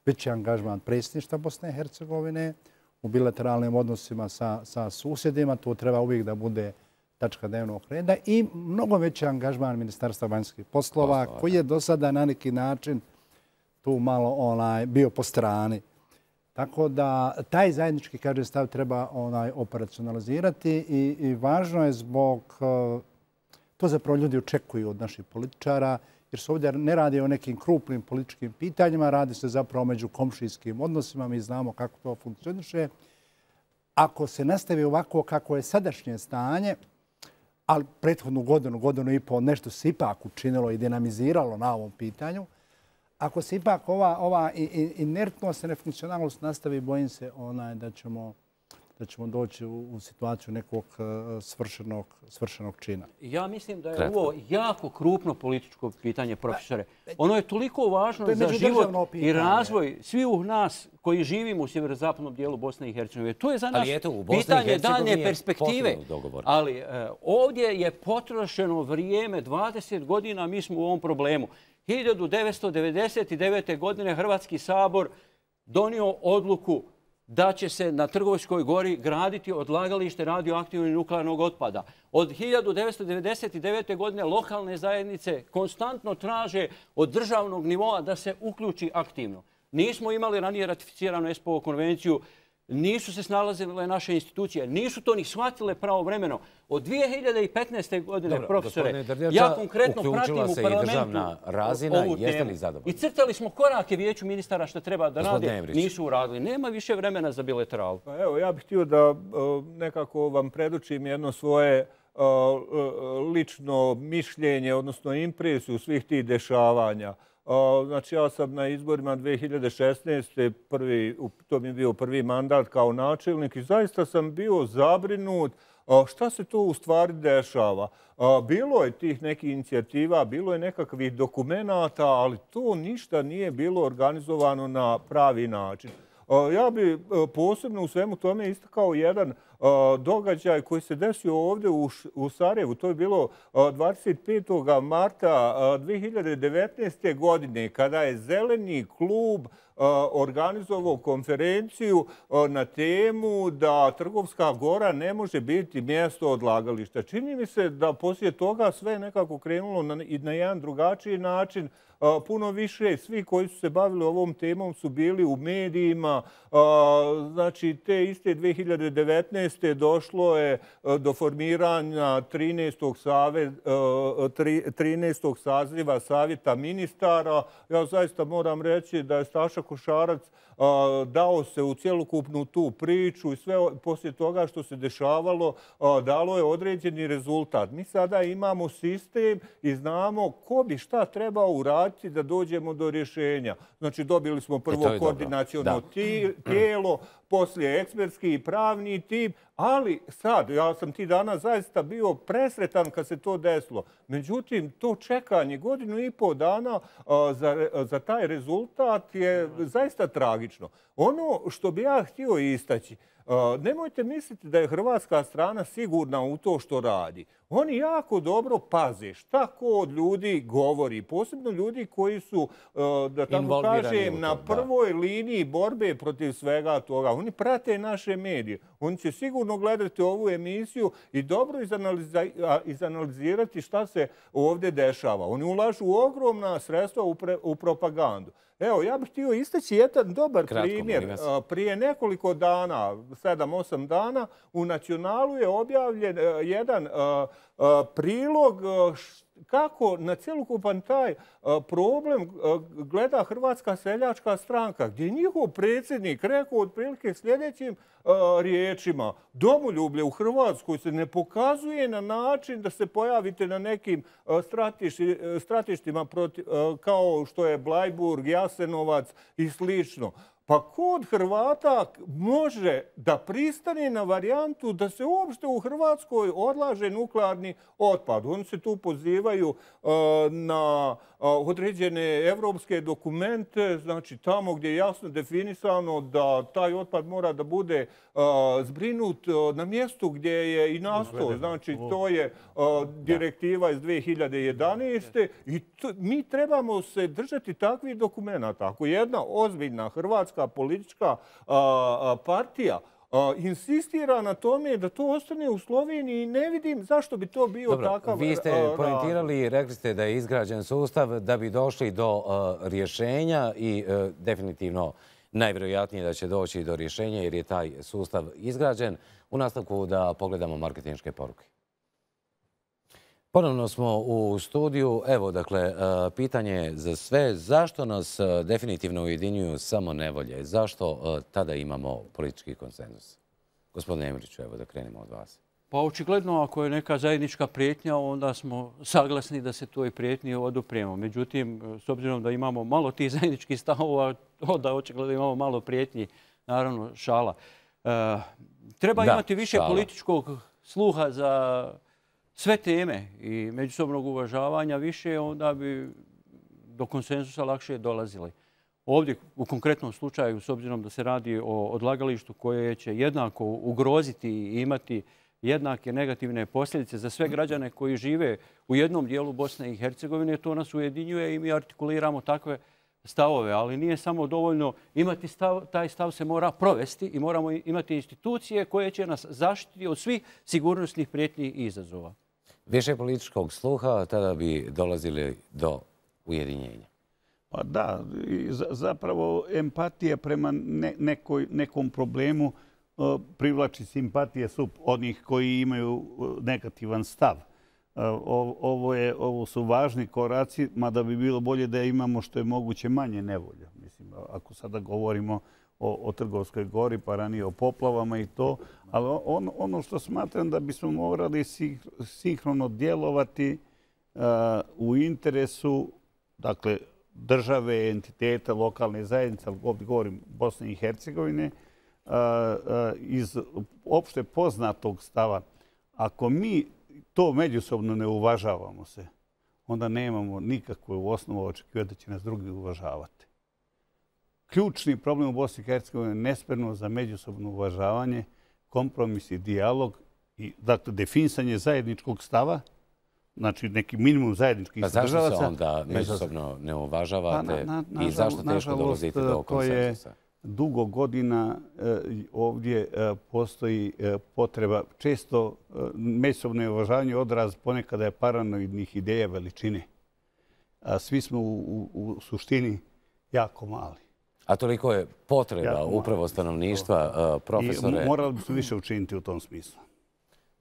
veći angažman predsjedništva Bosne i Hercegovine u bilateralnim odnosima sa, sa susjedima. To treba uvijek da bude tačka dnevnog reda i mnogo veći angažman Ministarstva vanjskih poslova, Poslova koji je do sada na neki način tu malo onaj, bio po strani. Tako da taj zajednički, kaže, stav treba onaj operacionalizirati i, i važno je zbog, to zapravo ljudi očekuju od naših političara, jer se ovdje ne radi o nekim krupnim političkim pitanjima, radi se zapravo među komšijskim odnosima, mi znamo kako to funkcioniše. Ako se nastavi ovako kako je sadašnje stanje, ali prethodnu godinu, godinu i pol, nešto se ipak učinilo i dinamiziralo na ovom pitanju, ako se ipak ova, ova inertnost i nefunkcionalnost nastavi, bojim se onaj da ćemo, da ćemo doći u, u situaciju nekog svršenog, svršenog čina. Ja mislim da je Kratko. ovo jako krupno političko pitanje, profesore. Ono je toliko važno je za život i razvoj svih nas koji živimo u sjeverozapadnom dijelu Bosne i Hercegovine. To je za nas eto, pitanje daljnje perspektive. Ali eh, ovdje je potrošeno vrijeme, dvadeset godina mi smo u ovom problemu. hiljadu devetsto devedeset devete. godine Hrvatski sabor donio odluku da će se na Trgovskoj gori graditi odlagalište radioaktivnog i nuklearnog otpada. Od hiljadu devetsto devedeset devete. godine lokalne zajednice konstantno traže od državnog nivoa da se uključi aktivno. Nismo imali ranije ratificiranu ESPO konvenciju, nisu se snalazile naše institucije, nisu to ni shvatile pravovremeno. Od dvije hiljade petnaeste. godine, Dobro, profesore, ja konkretno pratim u parlamentu razina, ovu temu. I crtali smo korake Vijeću ministara što treba da rade, nisu uradili. Nema više vremena za bilateralu. Pa evo, ja bih htio da nekako vam predočim jedno svoje lično mišljenje, odnosno impresiju svih tih dešavanja. Znači, ja sam na izborima dvije hiljade šesnaeste. Prvi, to mi je bio prvi mandat kao načelnik i zaista sam bio zabrinut šta se to u stvari dešava. Bilo je tih nekih inicijativa, bilo je nekakvih dokumenata, ali to ništa nije bilo organizovano na pravi način. Ja bih posebno u svemu tome istakao jedan događaj koji se desio ovdje u Sarajevu. To je bilo dvadeset petog marta dvije hiljade devetnaeste. godine kada je Zeleni klub organizovao konferenciju na temu da Trgovska gora ne može biti mjesto odlagališta. Čini mi se da poslije toga sve nekako krenulo na, na jedan drugačiji način. Puno više svi koji su se bavili ovom temom su bili u medijima. Znači, te iste dvije hiljade devetnaeste. došlo je do formiranja trinaestog. Save, trinaestog saziva Savjeta ministara. Ja zaista moram reći da je Staša Košarac dao se u cjelokupnu tu priču i sve poslije toga što se dešavalo dalo je određeni rezultat. Mi sada imamo sistem i znamo ko bi šta trebao uraditi da dođemo do rješenja. Znači, dobili smo prvo koordinaciono tijelo, poslije ekspertski i pravni tim, ali sad, ja sam ti dana zaista bio presretan kad se to desilo. Međutim, to čekanje godinu i pol dana za, za taj rezultat je zaista tragično. Ono što bi ja htio istaći, nemojte misliti da je hrvatska strana sigurna u to što radi. oni jako dobro paze šta ko od ljudi govori. Posebno ljudi koji su, da tako kažem, na prvoj liniji borbe protiv svega toga. Oni prate naše medije. Oni će sigurno gledati ovu emisiju i dobro izanalizirati šta se ovdje dešava. Oni ulažu ogromna sredstva u propagandu. Evo, ja bih htio istaći jedan dobar primjer. Prije nekoliko dana, sedam, osam dana, u Nacionalu je objavljen jedan prilog kako na cjelokupan taj problem gleda Hrvatska seljačka stranka, gdje je njihov predsjednik rekao otprilike sljedećim riječima: domoljublje u Hrvatskoj se ne pokazuje na način da se pojavite na nekim stratištima kao što je Blajburg, Jasenovac i slično. Pa kod Hrvata može da pristane na varijantu da se uopšte u Hrvatskoj odlaže nuklearni otpad. Oni se tu pozivaju na određene evropske dokumente, znači tamo gdje je jasno definisano da taj otpad mora da bude zbrinut na mjestu gdje je i nastao. Znači to je direktiva iz dve hiljade jedanaeste. i mi trebamo se držati takvih dokumenata. Ako jedna ozbiljna hrvatska politička partija insistira na tome da to ostane u Sloveniji, ne vidim zašto bi to bio takav razlog. Vi ste poentirali i rekli ste da je izgrađen sustav da bi došli do rješenja i definitivno najvjerojatnije da će doći do rješenja jer je taj sustav izgrađen. U nastavku da pogledamo marketinške poruke. Ponovno smo u studiju. Evo, dakle, pitanje za sve. Zašto nas definitivno ujedinjuju samo nevolje? Zašto tada imamo politički konsenzus? Gospodine Emriću, evo da krenemo od vas. Pa očigledno, ako je neka zajednička prijetnja, onda smo saglasni da se toj prijetnji odupremo. Međutim, s obzirom da imamo malo tih zajedničkih stavova, onda očigledno imamo malo prijetnji, naravno šala. Treba imati više političkog sluha za sve teme i međusobnog uvažavanja više, onda bi do konsenzusa lakše dolazili. Ovdje, u konkretnom slučaju, s obzirom da se radi o odlagalištu koje će jednako ugroziti i imati jednake negativne posljedice za sve građane koji žive u jednom dijelu Bosne i Hercegovine, to nas ujedinjuje i mi artikuliramo takve stavove. Ali nije samo dovoljno imati stav, taj stav se mora provesti i moramo imati institucije koje će nas zaštiti od svih sigurnosnih prijetnji i izazova. Više političkog sluha, tada bi dolazili do ujedinjenja. Pa da, zapravo empatija prema nekom problemu privlači simpatije su onih koji imaju negativan stav. Ovo su važni koraci, mada bi bilo bolje da imamo što je moguće manje nevolja. Mislim, ako sada govorimo o Trgovskoj gori, pa ranije o poplavama i to. Ali ono što smatram da bismo morali sinhrono djelovati u interesu, dakle, države, entiteta, lokalne zajednice, ovdje govorim Bosne i Hercegovine, iz opšte poznatog stava. Ako mi to međusobno ne uvažavamo se, onda nemamo nikakvu osnovu očekivati da će nas drugi uvažavati. Ključni problem u Bosni i Hercegovini je nespremno za međusobno uvažavanje, kompromis i dijalog i dakle, definisanje zajedničkog stava, znači neki minimum zajedničkih državaca. Pa zašto se onda međusobno ne uvažavate i zašto teško dolazite do konsenzusa? Dugo godina ovdje postoji potreba, često međusobno neuvažavanje odraz ponekada je paranoidnih ideja veličine. Svi smo u suštini jako mali. A toliko je potreba upravo stanovništva, profesore... I morali bi se više učiniti u tom smislu.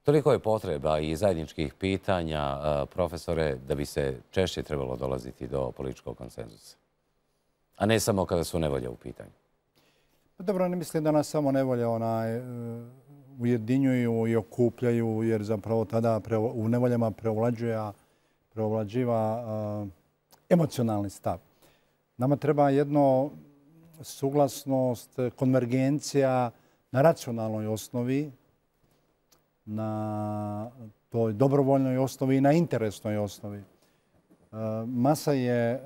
Toliko je potreba i zajedničkih pitanja, profesore, da bi se češće trebalo dolaziti do političkog konsenzusa. A ne samo kada su nevolje u pitanju. Dobro, ne mislim da nas samo nevolje ujedinjuju i okupljaju, jer zapravo tada u nevoljama preovlađiva emocionalni stav. Nama treba jedno suglasnost, konvergencija na racionalnoj osnovi, na toj dobrovoljnoj osnovi i na interesnoj osnovi. Masa je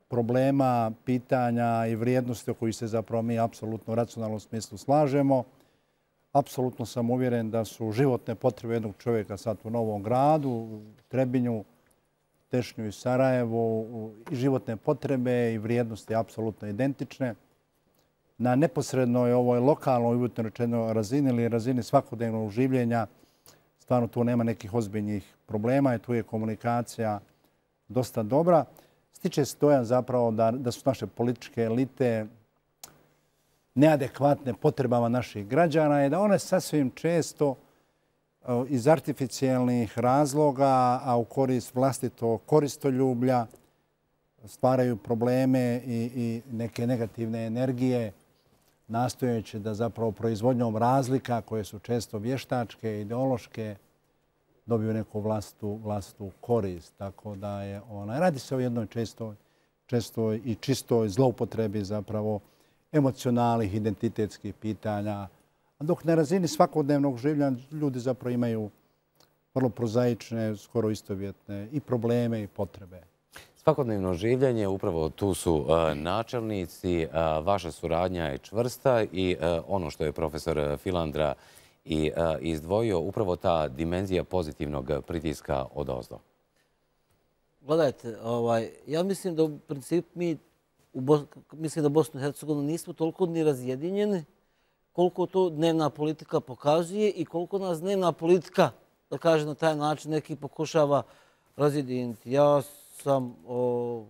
problema, pitanja i vrijednosti o kojih se zapravo mi apsolutno u racionalnom smislu slažemo, Apsolutno sam uvjeren da su životne potrebe jednog čovjeka sad u Novom Gradu, u Trebinju, Tešnju i Sarajevu, i životne potrebe i vrijednosti apsolutno identične. Na neposrednoj ovoj lokalnoj, uvjetno rečeno, razini ili razini svakodnevnog življenja stvarno tu nema nekih ozbiljnih problema i tu je komunikacija dosta dobra. Stiče se dojam zapravo da, da su naše političke elite neadekvatne potrebama naših građana i da one sasvim često iz artificijalnih razloga, a u korist vlastitog koristoljublja, stvaraju probleme i, i neke negativne energije, nastojeći da zapravo proizvodnjom razlika koje su često vještačke, ideološke, dobiju neku vlastitu, vlastitu korist. Tako da je ona, radi se o jednoj čestoj, čestoj i čistoj zloupotrebi zapravo emocionalnih, identitetskih pitanja. A dok na razini svakodnevnog življenja ljudi zapravo imaju vrlo prozaične, skoro istovjetne i probleme i potrebe. Svakodnevno življenje, upravo tu su načelnici, vaša suradnja je čvrsta i ono što je profesor Filandra i izdvojio, upravo ta dimenzija pozitivnog pritiska odozdo. Gledajte, ovaj, ja mislim da u principu mi u Bos... mislim da Bosnu i Hercegovinu nismo toliko ni razjedinjeni koliko to dnevna politika pokazuje i koliko nas dnevna politika, da kaže na taj način, neki pokušava razjediniti. Ja sam, o,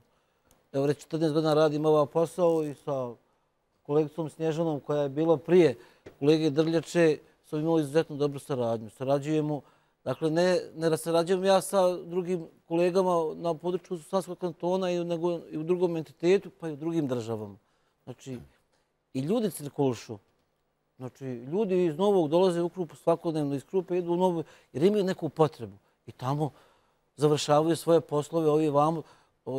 evo reći, četrnaest godina radim ovaj posao i sa kolegicom Snježanom koja je bila prije kolege Drljače smo imali izuzetno dobru saradnju. Sarađujemo, dakle ne, ne sarađujem ja sa drugim kolegama na području Savskog kantona i, nego i u drugom entitetu pa i u drugim državama. Znači, i ljudi cirkulišu. Znači, ljudi iz Novog dolaze u Krupu svakodnevno, iz Krupe idu u Novu jer imaju neku potrebu. I tamo završavaju svoje poslove, ovi vamo.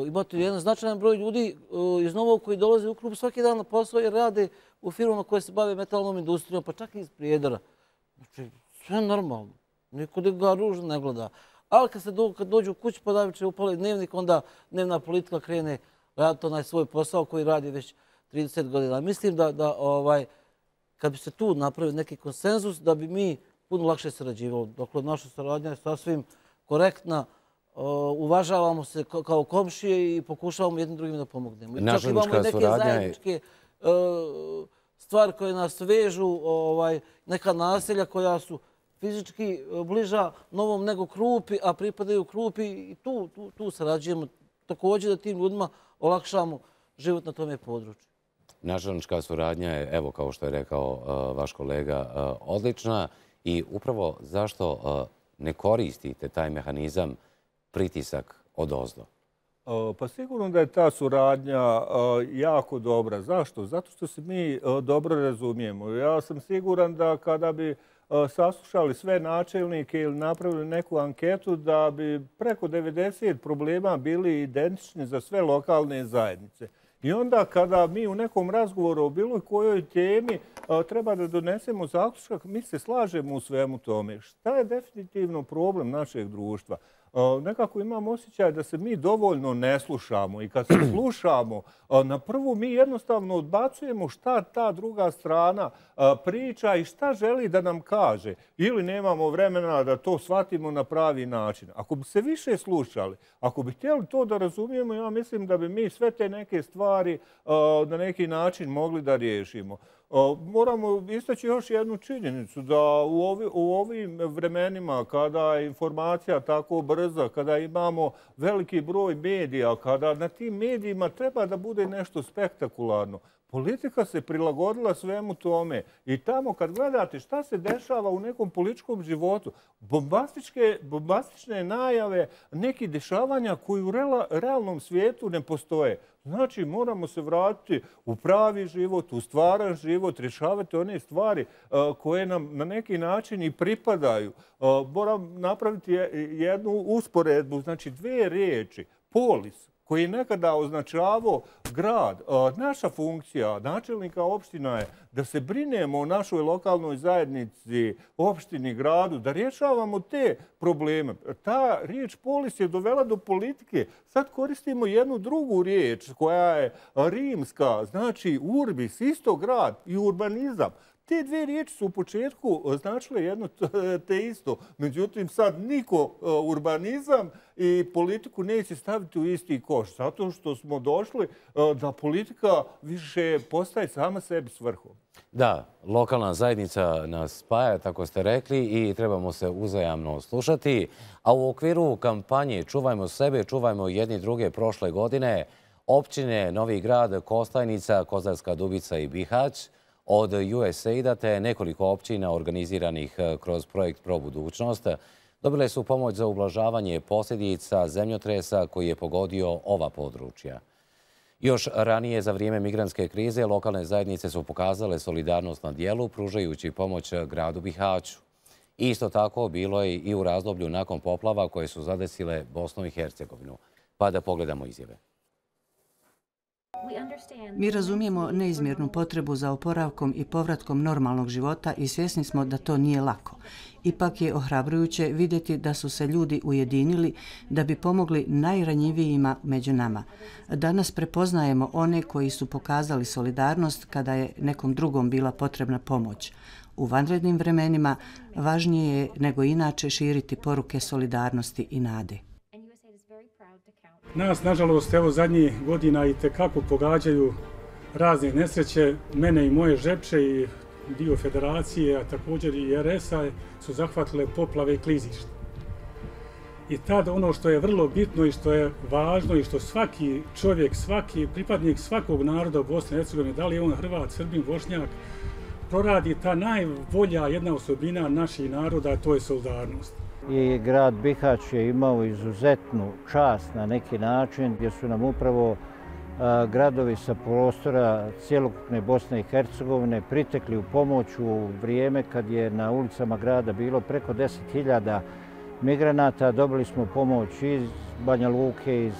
Imate jedan značajan broj ljudi iz Novog koji dolaze u Krupu svaki dan na posao jer rade u firmama koje se bave metalnom industrijom, pa čak i iz Prijedora. Znači, sve normalno. Niko ga ružno ne gleda. Ali kad, se do, kad dođu u kući pa daviče upali dnevnik, onda dnevna politika krene raditi onaj svoj posao koji radi već trideset godina. Mislim da, da ovaj, kad bi se tu napravio neki konsenzus, da bi mi puno lakše sarađivali. Dakle, naša saradnja je sasvim korektna. Uvažavamo se kao komšije i pokušavamo jednim drugim da pomognemo. I čak imamo i neke zajedničke stvari koje nas vežu, ovaj, neka naselja koja su fizički bliža Novom nego Krupi, a pripadaju Krupi i tu, tu, tu sarađujemo također da tim ljudima olakšamo život na tome području. Načelnička suradnja je, evo kao što je rekao uh, vaš kolega, uh, odlična i upravo zašto uh, ne koristite taj mehanizam pritisak odozdo? Uh, pa sigurno da je ta suradnja uh, jako dobra. Zašto? Zato što se mi uh, dobro razumijemo. Ja sam siguran da kada bi saslušali sve načelnike ili napravili neku anketu da bi preko devedeset problema bili identični za sve lokalne zajednice. I onda kada mi u nekom razgovoru o bilo kojoj temi treba da donesemo zaključak, mi se slažemo u svemu tome. Šta je definitivno problem našeg društva? Nekako imam osjećaj da se mi dovoljno ne slušamo i kad se slušamo, na prvu mi jednostavno odbacujemo šta ta druga strana priča i šta želi da nam kaže. Ili nemamo vremena da to shvatimo na pravi način. Ako bi se više slušali, ako bi htjeli to da razumijemo, ja mislim da bi mi sve te neke stvari na neki način mogli da riješimo. Moramo istaći još jednu činjenicu da u, ovi, u ovim vremenima kada je informacija tako brza, kada imamo veliki broj medija, kada na tim medijima treba da bude nešto spektakularno, politika se prilagodila svemu tome i tamo kad gledate šta se dešava u nekom političkom životu, bombastičke, bombastične najave, neki dešavanja koji u realnom svijetu ne postoje. Znači, moramo se vratiti u pravi život, u stvaran život, rješavati one stvari koje nam na neki način i pripadaju. Moram napraviti jednu usporedbu, znači dvije riječi, polis, koji je nekada označavao grad. Naša funkcija načelnika opština je da se brinemo o našoj lokalnoj zajednici, opštini, gradu, da rješavamo te probleme. Ta riječ polis je dovela do politike. Sad koristimo jednu drugu riječ koja je rimska, znači urbis, isto grad i urbanizam. Te dve riječi su u početku značile jedno te isto. Međutim, sad niko urbanizam i politiku neće staviti u isti koš. Zato što smo došli da politika više postaje sama sebi svrhom. Da, lokalna zajednica nas spaja, tako ste rekli, i trebamo se uzajamno slušati. A u okviru kampanje Čuvajmo sebe, čuvajmo jedni druge prošle godine, općine Novi Grad, Kostajnica, Kozarska Dubica i Bihać od U S A I D-a te nekoliko općina organiziranih kroz projekt Pro budućnost dobile su pomoć za ublažavanje posljedica zemljotresa koji je pogodio ova područja. Još ranije, za vrijeme migrantske krize, lokalne zajednice su pokazale solidarnost na dijelu, pružajući pomoć gradu Bihaću. Isto tako bilo je i u razdoblju nakon poplava koje su zadesile Bosnu i Hercegovinu. Pa da pogledamo izjave. Mi razumijemo neizmjernu potrebu za oporavkom i povratkom normalnog života i svjesni smo da to nije lako. Ipak je ohrabrujuće vidjeti da su se ljudi ujedinili da bi pomogli najranjivijima među nama. Danas prepoznajemo one koji su pokazali solidarnost kada je nekom drugom bila potrebna pomoć. U vanrednim vremenima važnije je nego inače širiti poruke solidarnosti i nade. Nas, nažalost, evo zadnjih godina i tekako pogađaju razne nesreće. Mene i moje Žepče i dio federacije, a također i R S-a su zahvatile poplave i klizišta. I tad ono što je vrlo bitno i što je važno i što svaki čovjek, svaki pripadnik svakog naroda u Bosni i Hercegovini, da li je on Hrvat, Srbin, Bošnjak, proradi ta najbolja jedna osobina naših naroda, a to je solidarnost. I grad Bihać je imao izuzetnu čast na neki način gdje su nam upravo a, gradovi sa prostora cjelokupne Bosne i Hercegovine pritekli u pomoć u vrijeme kad je na ulicama grada bilo preko deset hiljada migranata. Dobili smo pomoć iz Banja Luke, iz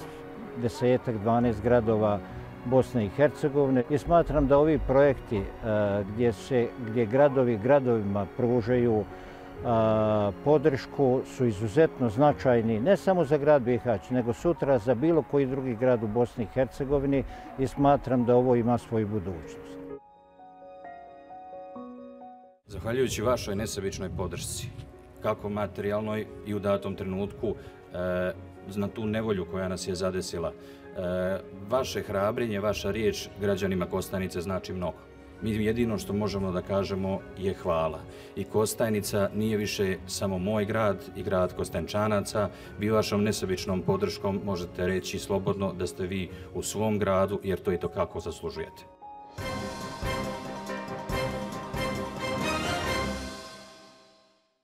desetak, dvanaest gradova Bosne i Hercegovine. I smatram da ovi projekti a, gdje, se, gdje gradovi gradovima pružaju A, podršku su izuzetno značajni ne samo za grad Bihać, nego sutra za bilo koji drugi grad u Bosni i Hercegovini i smatram da ovo ima svoju budućnost. Zahvaljujući vašoj nesebičnoj podršci, kako materijalnoj i u datom trenutku, e, na tu nevolju koja nas je zadesila, e, vaše hrabrenje, vaša riječ građanima Kostajnice znači mnogo. Mi jedino što možemo da kažemo je hvala. I Kostajnica nije više samo moj grad i grad Kostajnčanaca. Vi vašom nesebičnom podrškom možete reći slobodno da ste vi u svom gradu, jer to i to kako zaslužujete.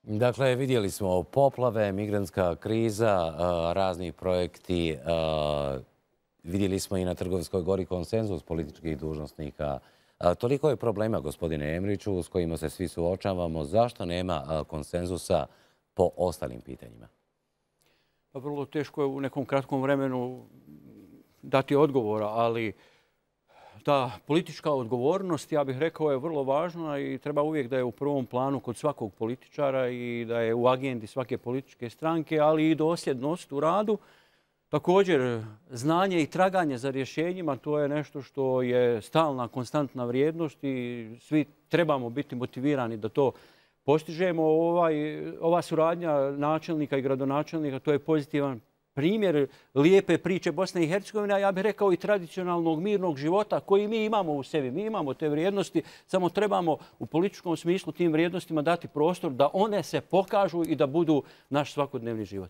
Dakle, vidjeli smo poplave, migrantska kriza, razni projekti. Vidjeli smo i na Trgovskoj gori konsenzus političkih dužnosnika. Toliko je problema, gospodine Emriću, s kojima se svi suočavamo. Zašto nema konsenzusa po ostalim pitanjima? Pa vrlo teško je u nekom kratkom vremenu dati odgovora, ali ta politička odgovornost, ja bih rekao, je vrlo važna i treba uvijek da je u prvom planu kod svakog političara i da je u agendi svake političke stranke, ali i dosljednost u radu. Također, znanje i traganje za rješenjima, to je nešto što je stalna, konstantna vrijednost i svi trebamo biti motivirani da to postižemo. Ovaj, ova suradnja načelnika i gradonačelnika, to je pozitivan primjer lijepe priče Bosne i Hercegovine, a ja bih rekao i tradicionalnog mirnog života koji mi imamo u sebi. Mi imamo te vrijednosti, samo trebamo u političkom smislu tim vrijednostima dati prostor da one se pokažu i da budu naš svakodnevni život.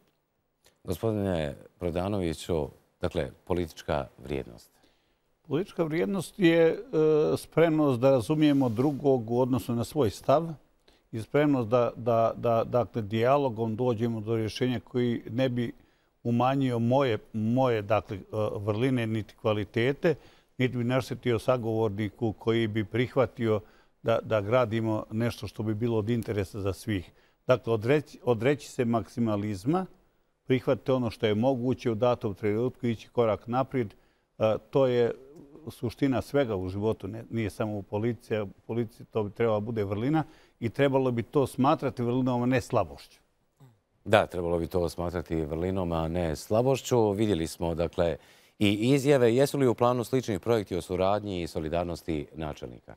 Gospodine Prodanoviću, dakle, politička vrijednost. Politička vrijednost je e, spremnost da razumijemo drugog u odnosu na svoj stav i spremnost da, da, da dakle, dijalogom dođemo do rješenja koji ne bi umanjio moje, moje dakle, vrline niti kvalitete, niti bi naštetio sagovorniku koji bi prihvatio da, da gradimo nešto što bi bilo od interesa za svih. Dakle, odreći, odreći se maksimalizma, prihvatiti ono što je moguće u datom trenutku, ići korak naprijed. To je suština svega u životu, nije samo u policiji. U policiji to bi trebalo bude vrlina i trebalo bi to smatrati vrlinom, a ne slabošću. Da, trebalo bi to smatrati vrlinom, a ne slabošću. Vidjeli smo, dakle, i izjave. Jesu li u planu sličnih projekti o suradnji i solidarnosti načelnika?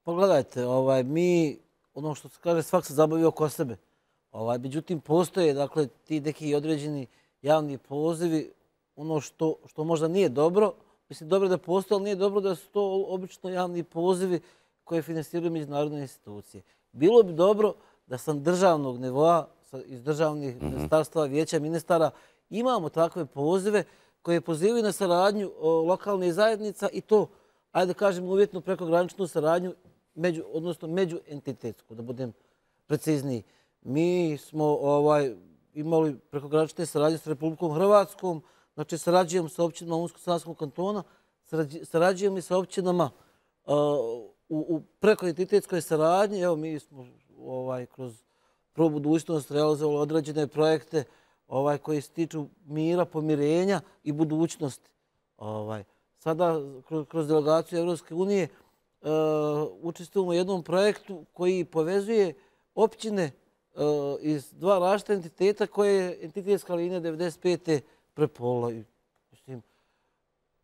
Pogledajte, mi, ono što se kaže, svak se zabavi oko sebe. Međutim, postoje dakle, ti neki određeni javni pozivi, ono što možda nije dobro. Mislim, dobro da postoje, ali nije dobro da su to obično javni pozivi koje finansiraju međunarodne institucije. Bilo bi dobro da sam državnog nivoa, iz državnih ministarstva, vijeća ministara, imamo takve pozive koje pozivaju na saradnju lokalnih zajednica i to, ajde da kažem, uvjetno prekograničnu saradnju, odnosno međuentitetsku, da budem precizniji. Mi smo imali prekogranične saradnje s Republikom Hrvatskom, znači sarađujemo sa općinama Unsko-Sanskog kantona, sarađujemo i sa općinama u prekoentitetskoj saradnji. Evo, mi smo kroz Pro budućnost realizovali određene projekte koji se tiču mira, pomirenja i budućnosti. Sada, kroz delegaciju Evropske unije, učestvujemo u jednom projektu koji povezuje općine iz dva različita entiteta koje je entitetska linija devedeset pete prepola.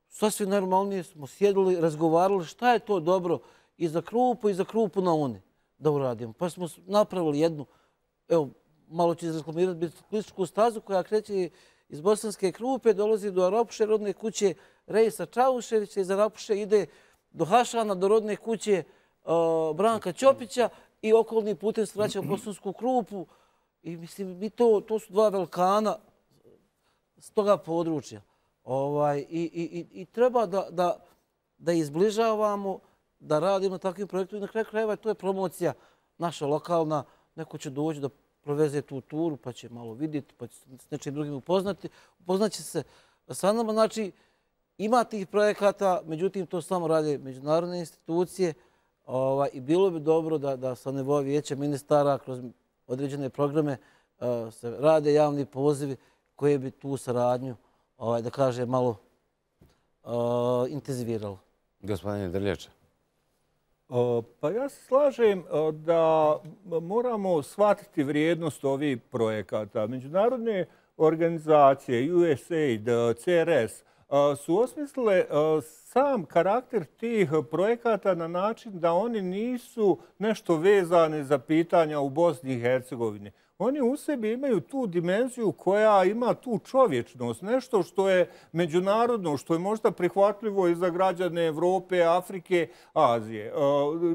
Sasvim normalnije smo sjedili, razgovarali šta je to dobro i za Krupu i za Krupu na Uni da uradimo. Pa smo napravili jednu, evo, malo ću izreklamirati biciklističku stazu koja kreće iz Bosanske Krupe, dolazi do Arapuše, rodne kuće Rejsa Čauševića, iz Arapuše ide do Hašana, do rodne kuće Branka Ćopića i okolni putem se vraća u Bosansku Krupu. I mislim, to su dva velikana s toga područja. I treba da izbližavamo, da radimo takvim projektom i na kraju krajeva to je promocija naša lokalna. Neko će doći da proveze tu turu pa će malo vidjeti, pa će s nečim drugim upoznati. Upoznaće se sa nama. Znači, ima tih projekata, međutim, to samo rade međunarodne institucije i bilo bi dobro da sa nivoa vijeća ministara kroz određene programe se rade javni pozivi koje bi tu saradnju, da kaže, malo intenziviralo. Gospodine Drljača. Pa ja se slažem da moramo shvatiti vrijednost ovih projekata. Međunarodne organizacije, U S A I D, C R S, su osmislile sam karakter tih projekata na način da oni nisu nešto vezani za pitanja u Bosni i Hercegovini. Oni u sebi imaju tu dimenziju koja ima tu čovječnost, nešto što je međunarodno, što je možda prihvatljivo i za građane Evrope, Afrike, Azije.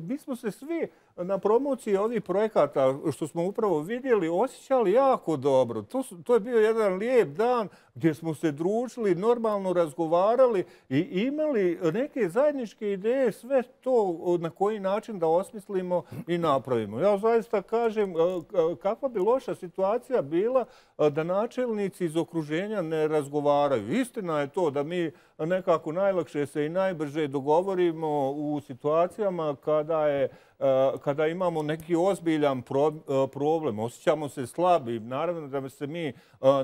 Mi smo se svi na promociji ovih projekata, što smo upravo vidjeli, osjećali jako dobro. To je bio jedan lijep dan gdje smo se družili, normalno razgovarali i imali neke zajedničke ideje, sve to na koji način da osmislimo i napravimo. Ja zaista kažem kakva bi loša situacija bila da načelnici iz okruženja ne razgovaraju. Istina je to da mi nekako najlakše se i najbrže dogovorimo u situacijama kada je kada imamo neki ozbiljan problem, osjećamo se slabim. Naravno da se mi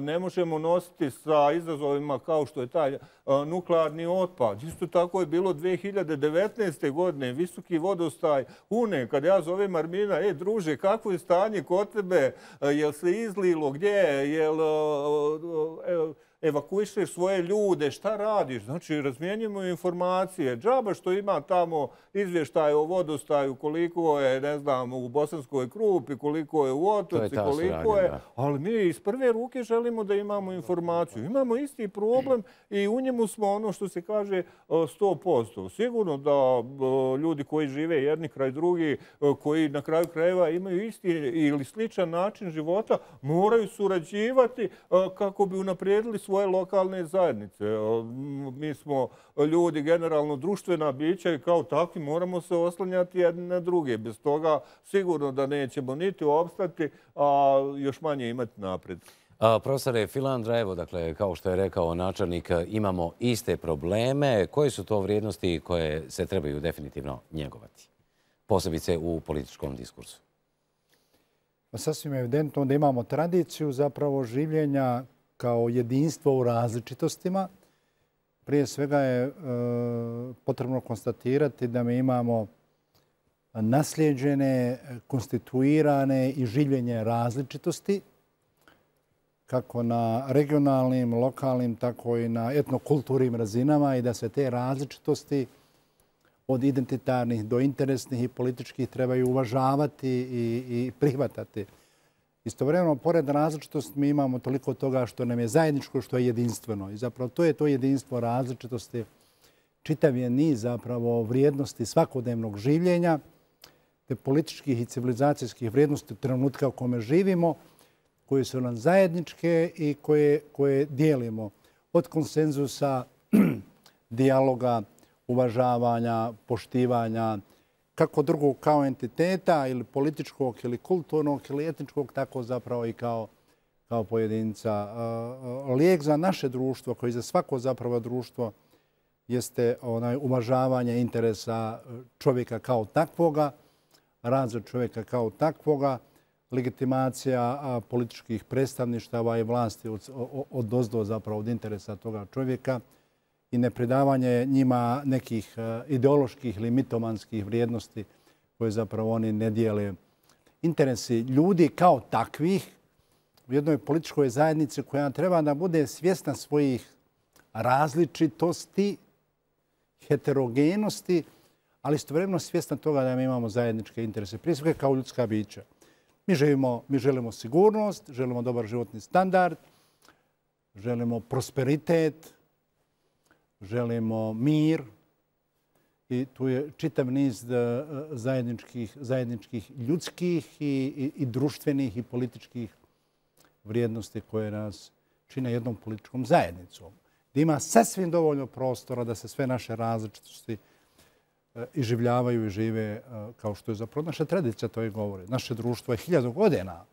ne možemo nositi sa izazovima kao što je taj nuklearni otpad. Isto tako je bilo dvije hiljade devetnaeste. godine, visoki vodostaj Une, kada ja zovem Armina, e druže, kakvo je stanje kod tebe, jel se izlilo, gdje je, jel evakuišeš svoje ljude, šta radiš? Znači, razmjenjujemo informacije. Džaba što ima tamo izvještaj o vodostaju, koliko je, ne znam, u Bosanskoj Krupi, koliko je u Otoci, koliko je... Ali mi iz prve ruke želimo da imamo informaciju. Imamo isti problem i u njemu smo ono što se kaže sto posto. Sigurno da ljudi koji žive jedni kraj drugi, koji na kraju krajeva imaju isti ili sličan način života, moraju surađivati kako bi unaprijedili svoje lokalne zajednice. Mi smo ljudi generalno društvena bića i kao takvi moramo se oslanjati jedni na druge. Bez toga sigurno da nećemo niti opstati, a još manje imati napred. Profesore Filandra, evo, dakle, kao što je rekao načelnik, imamo iste probleme. Koje su to vrijednosti koje se trebaju definitivno njegovati? Posebice u političkom diskursu. Sasvim evidentno da imamo tradiciju zapravo življenja kao jedinstvo u različitostima. Prije svega je potrebno konstatirati da mi imamo nasljeđene, konstituirane i življenje različitosti, kako na regionalnim, lokalnim, tako i na etnokulturnim razinama i da se te različitosti od identitarnih do interesnih i političkih trebaju uvažavati i prihvatati. Istovremeno, pored različitosti, mi imamo toliko toga što nam je zajedničko, što je jedinstveno. I zapravo to je to jedinstvo različitosti. Čitav je niz zapravo vrijednosti svakodnevnog življenja, te političkih i civilizacijskih vrijednosti trenutka u kome živimo, koje su nam zajedničke i koje, koje dijelimo. Od konsenzusa, dijaloga, uvažavanja, poštivanja, kako drugog kao entiteta ili političkog ili kulturnog ili etničkog, tako zapravo i kao, kao pojedinca. Lijek za naše društvo, koji za svako zapravo društvo, jeste onaj uvažavanje interesa čovjeka kao takvoga, razvoj čovjeka kao takvoga, legitimacija političkih predstavništava i vlasti od ozdo zapravo od interesa toga čovjeka i nepridavanje njima nekih ideoloških ili mitomanskih vrijednosti koje zapravo oni ne dijele. Interesi ljudi kao takvih u jednoj političkoj zajednici koja treba da bude svjesna svojih različitosti, heterogenosti, ali istovremeno svjesna toga da mi imamo zajedničke interese, prije svega kao ljudska bića. Mi živimo, mi želimo sigurnost, želimo dobar životni standard, želimo prosperitet, želimo mir i tu je čitav niz zajedničkih, zajedničkih ljudskih i, i, i društvenih i političkih vrijednosti koje nas čine jednom političkom zajednicom. Da ima sasvim dovoljno prostora da se sve naše različitosti iživljavaju i žive kao što je zapravo naša tradicija to i govori. Naše društvo je hiljadu godina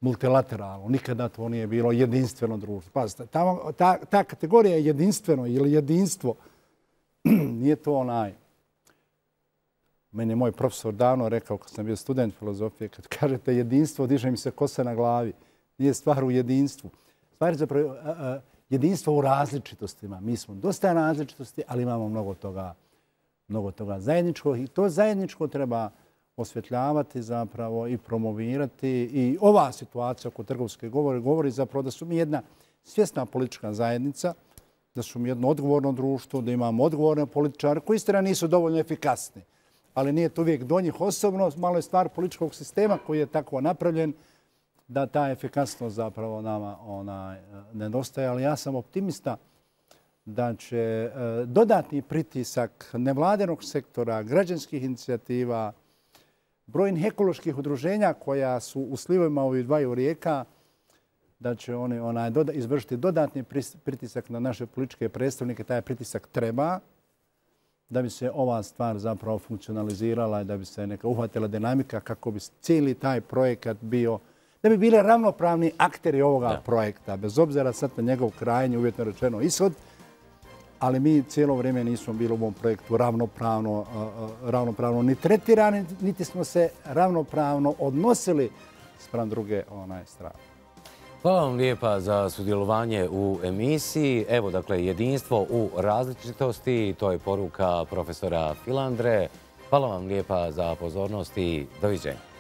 multilateralno. Nikada to nije bilo jedinstveno društvo. Pazite, ta, ta, ta kategorija je jedinstveno ili jedinstvo. Nije to onaj. Meni je moj profesor davno rekao, kad sam bio student filozofije, kad kažete jedinstvo, diže mi se kosa na glavi. Nije stvar u jedinstvu. Stvar je zapravo a, a, jedinstvo u različitostima. Mi smo dosta različitosti, ali imamo mnogo toga, mnogo toga zajedničkog i to zajedničko treba osvjetljavati zapravo i promovirati. I ova situacija oko trgovske govori govori zapravo da su mi jedna svjesna politička zajednica, da su mi jedno odgovorno društvo, da imamo odgovorne političare koji istina nisu dovoljno efikasni. Ali nije to uvijek do njih osobno, malo je stvar političkog sistema koji je tako napravljen da ta efikasnost zapravo nama ona, nedostaje. Ali ja sam optimista da će dodatni pritisak nevladenog sektora, građanskih inicijativa, brojnih ekoloških udruženja koja su u slivovima ovih dvaju rijeka, da će oni onaj, doda, izvršiti dodatni pritisak na naše političke predstavnike. Taj pritisak treba da bi se ova stvar zapravo funkcionalizirala i da bi se neka uhvatila dinamika kako bi cijeli taj projekat bio, da bi bili ravnopravni akteri ovoga da. projekta, bez obzira sad na njegov krajnji, uvjetno rečeno, ishod. Ali mi cijelo vrijeme nismo bili u ovom projektu ravnopravno, ravnopravno ni tretirani, niti smo se ravnopravno odnosili spram druge onaj strane. Hvala vam lijepa za sudjelovanje u emisiji. Evo, dakle, jedinstvo u različitosti, to je poruka profesora Filandre. Hvala vam lijepa za pozornost i doviđenja.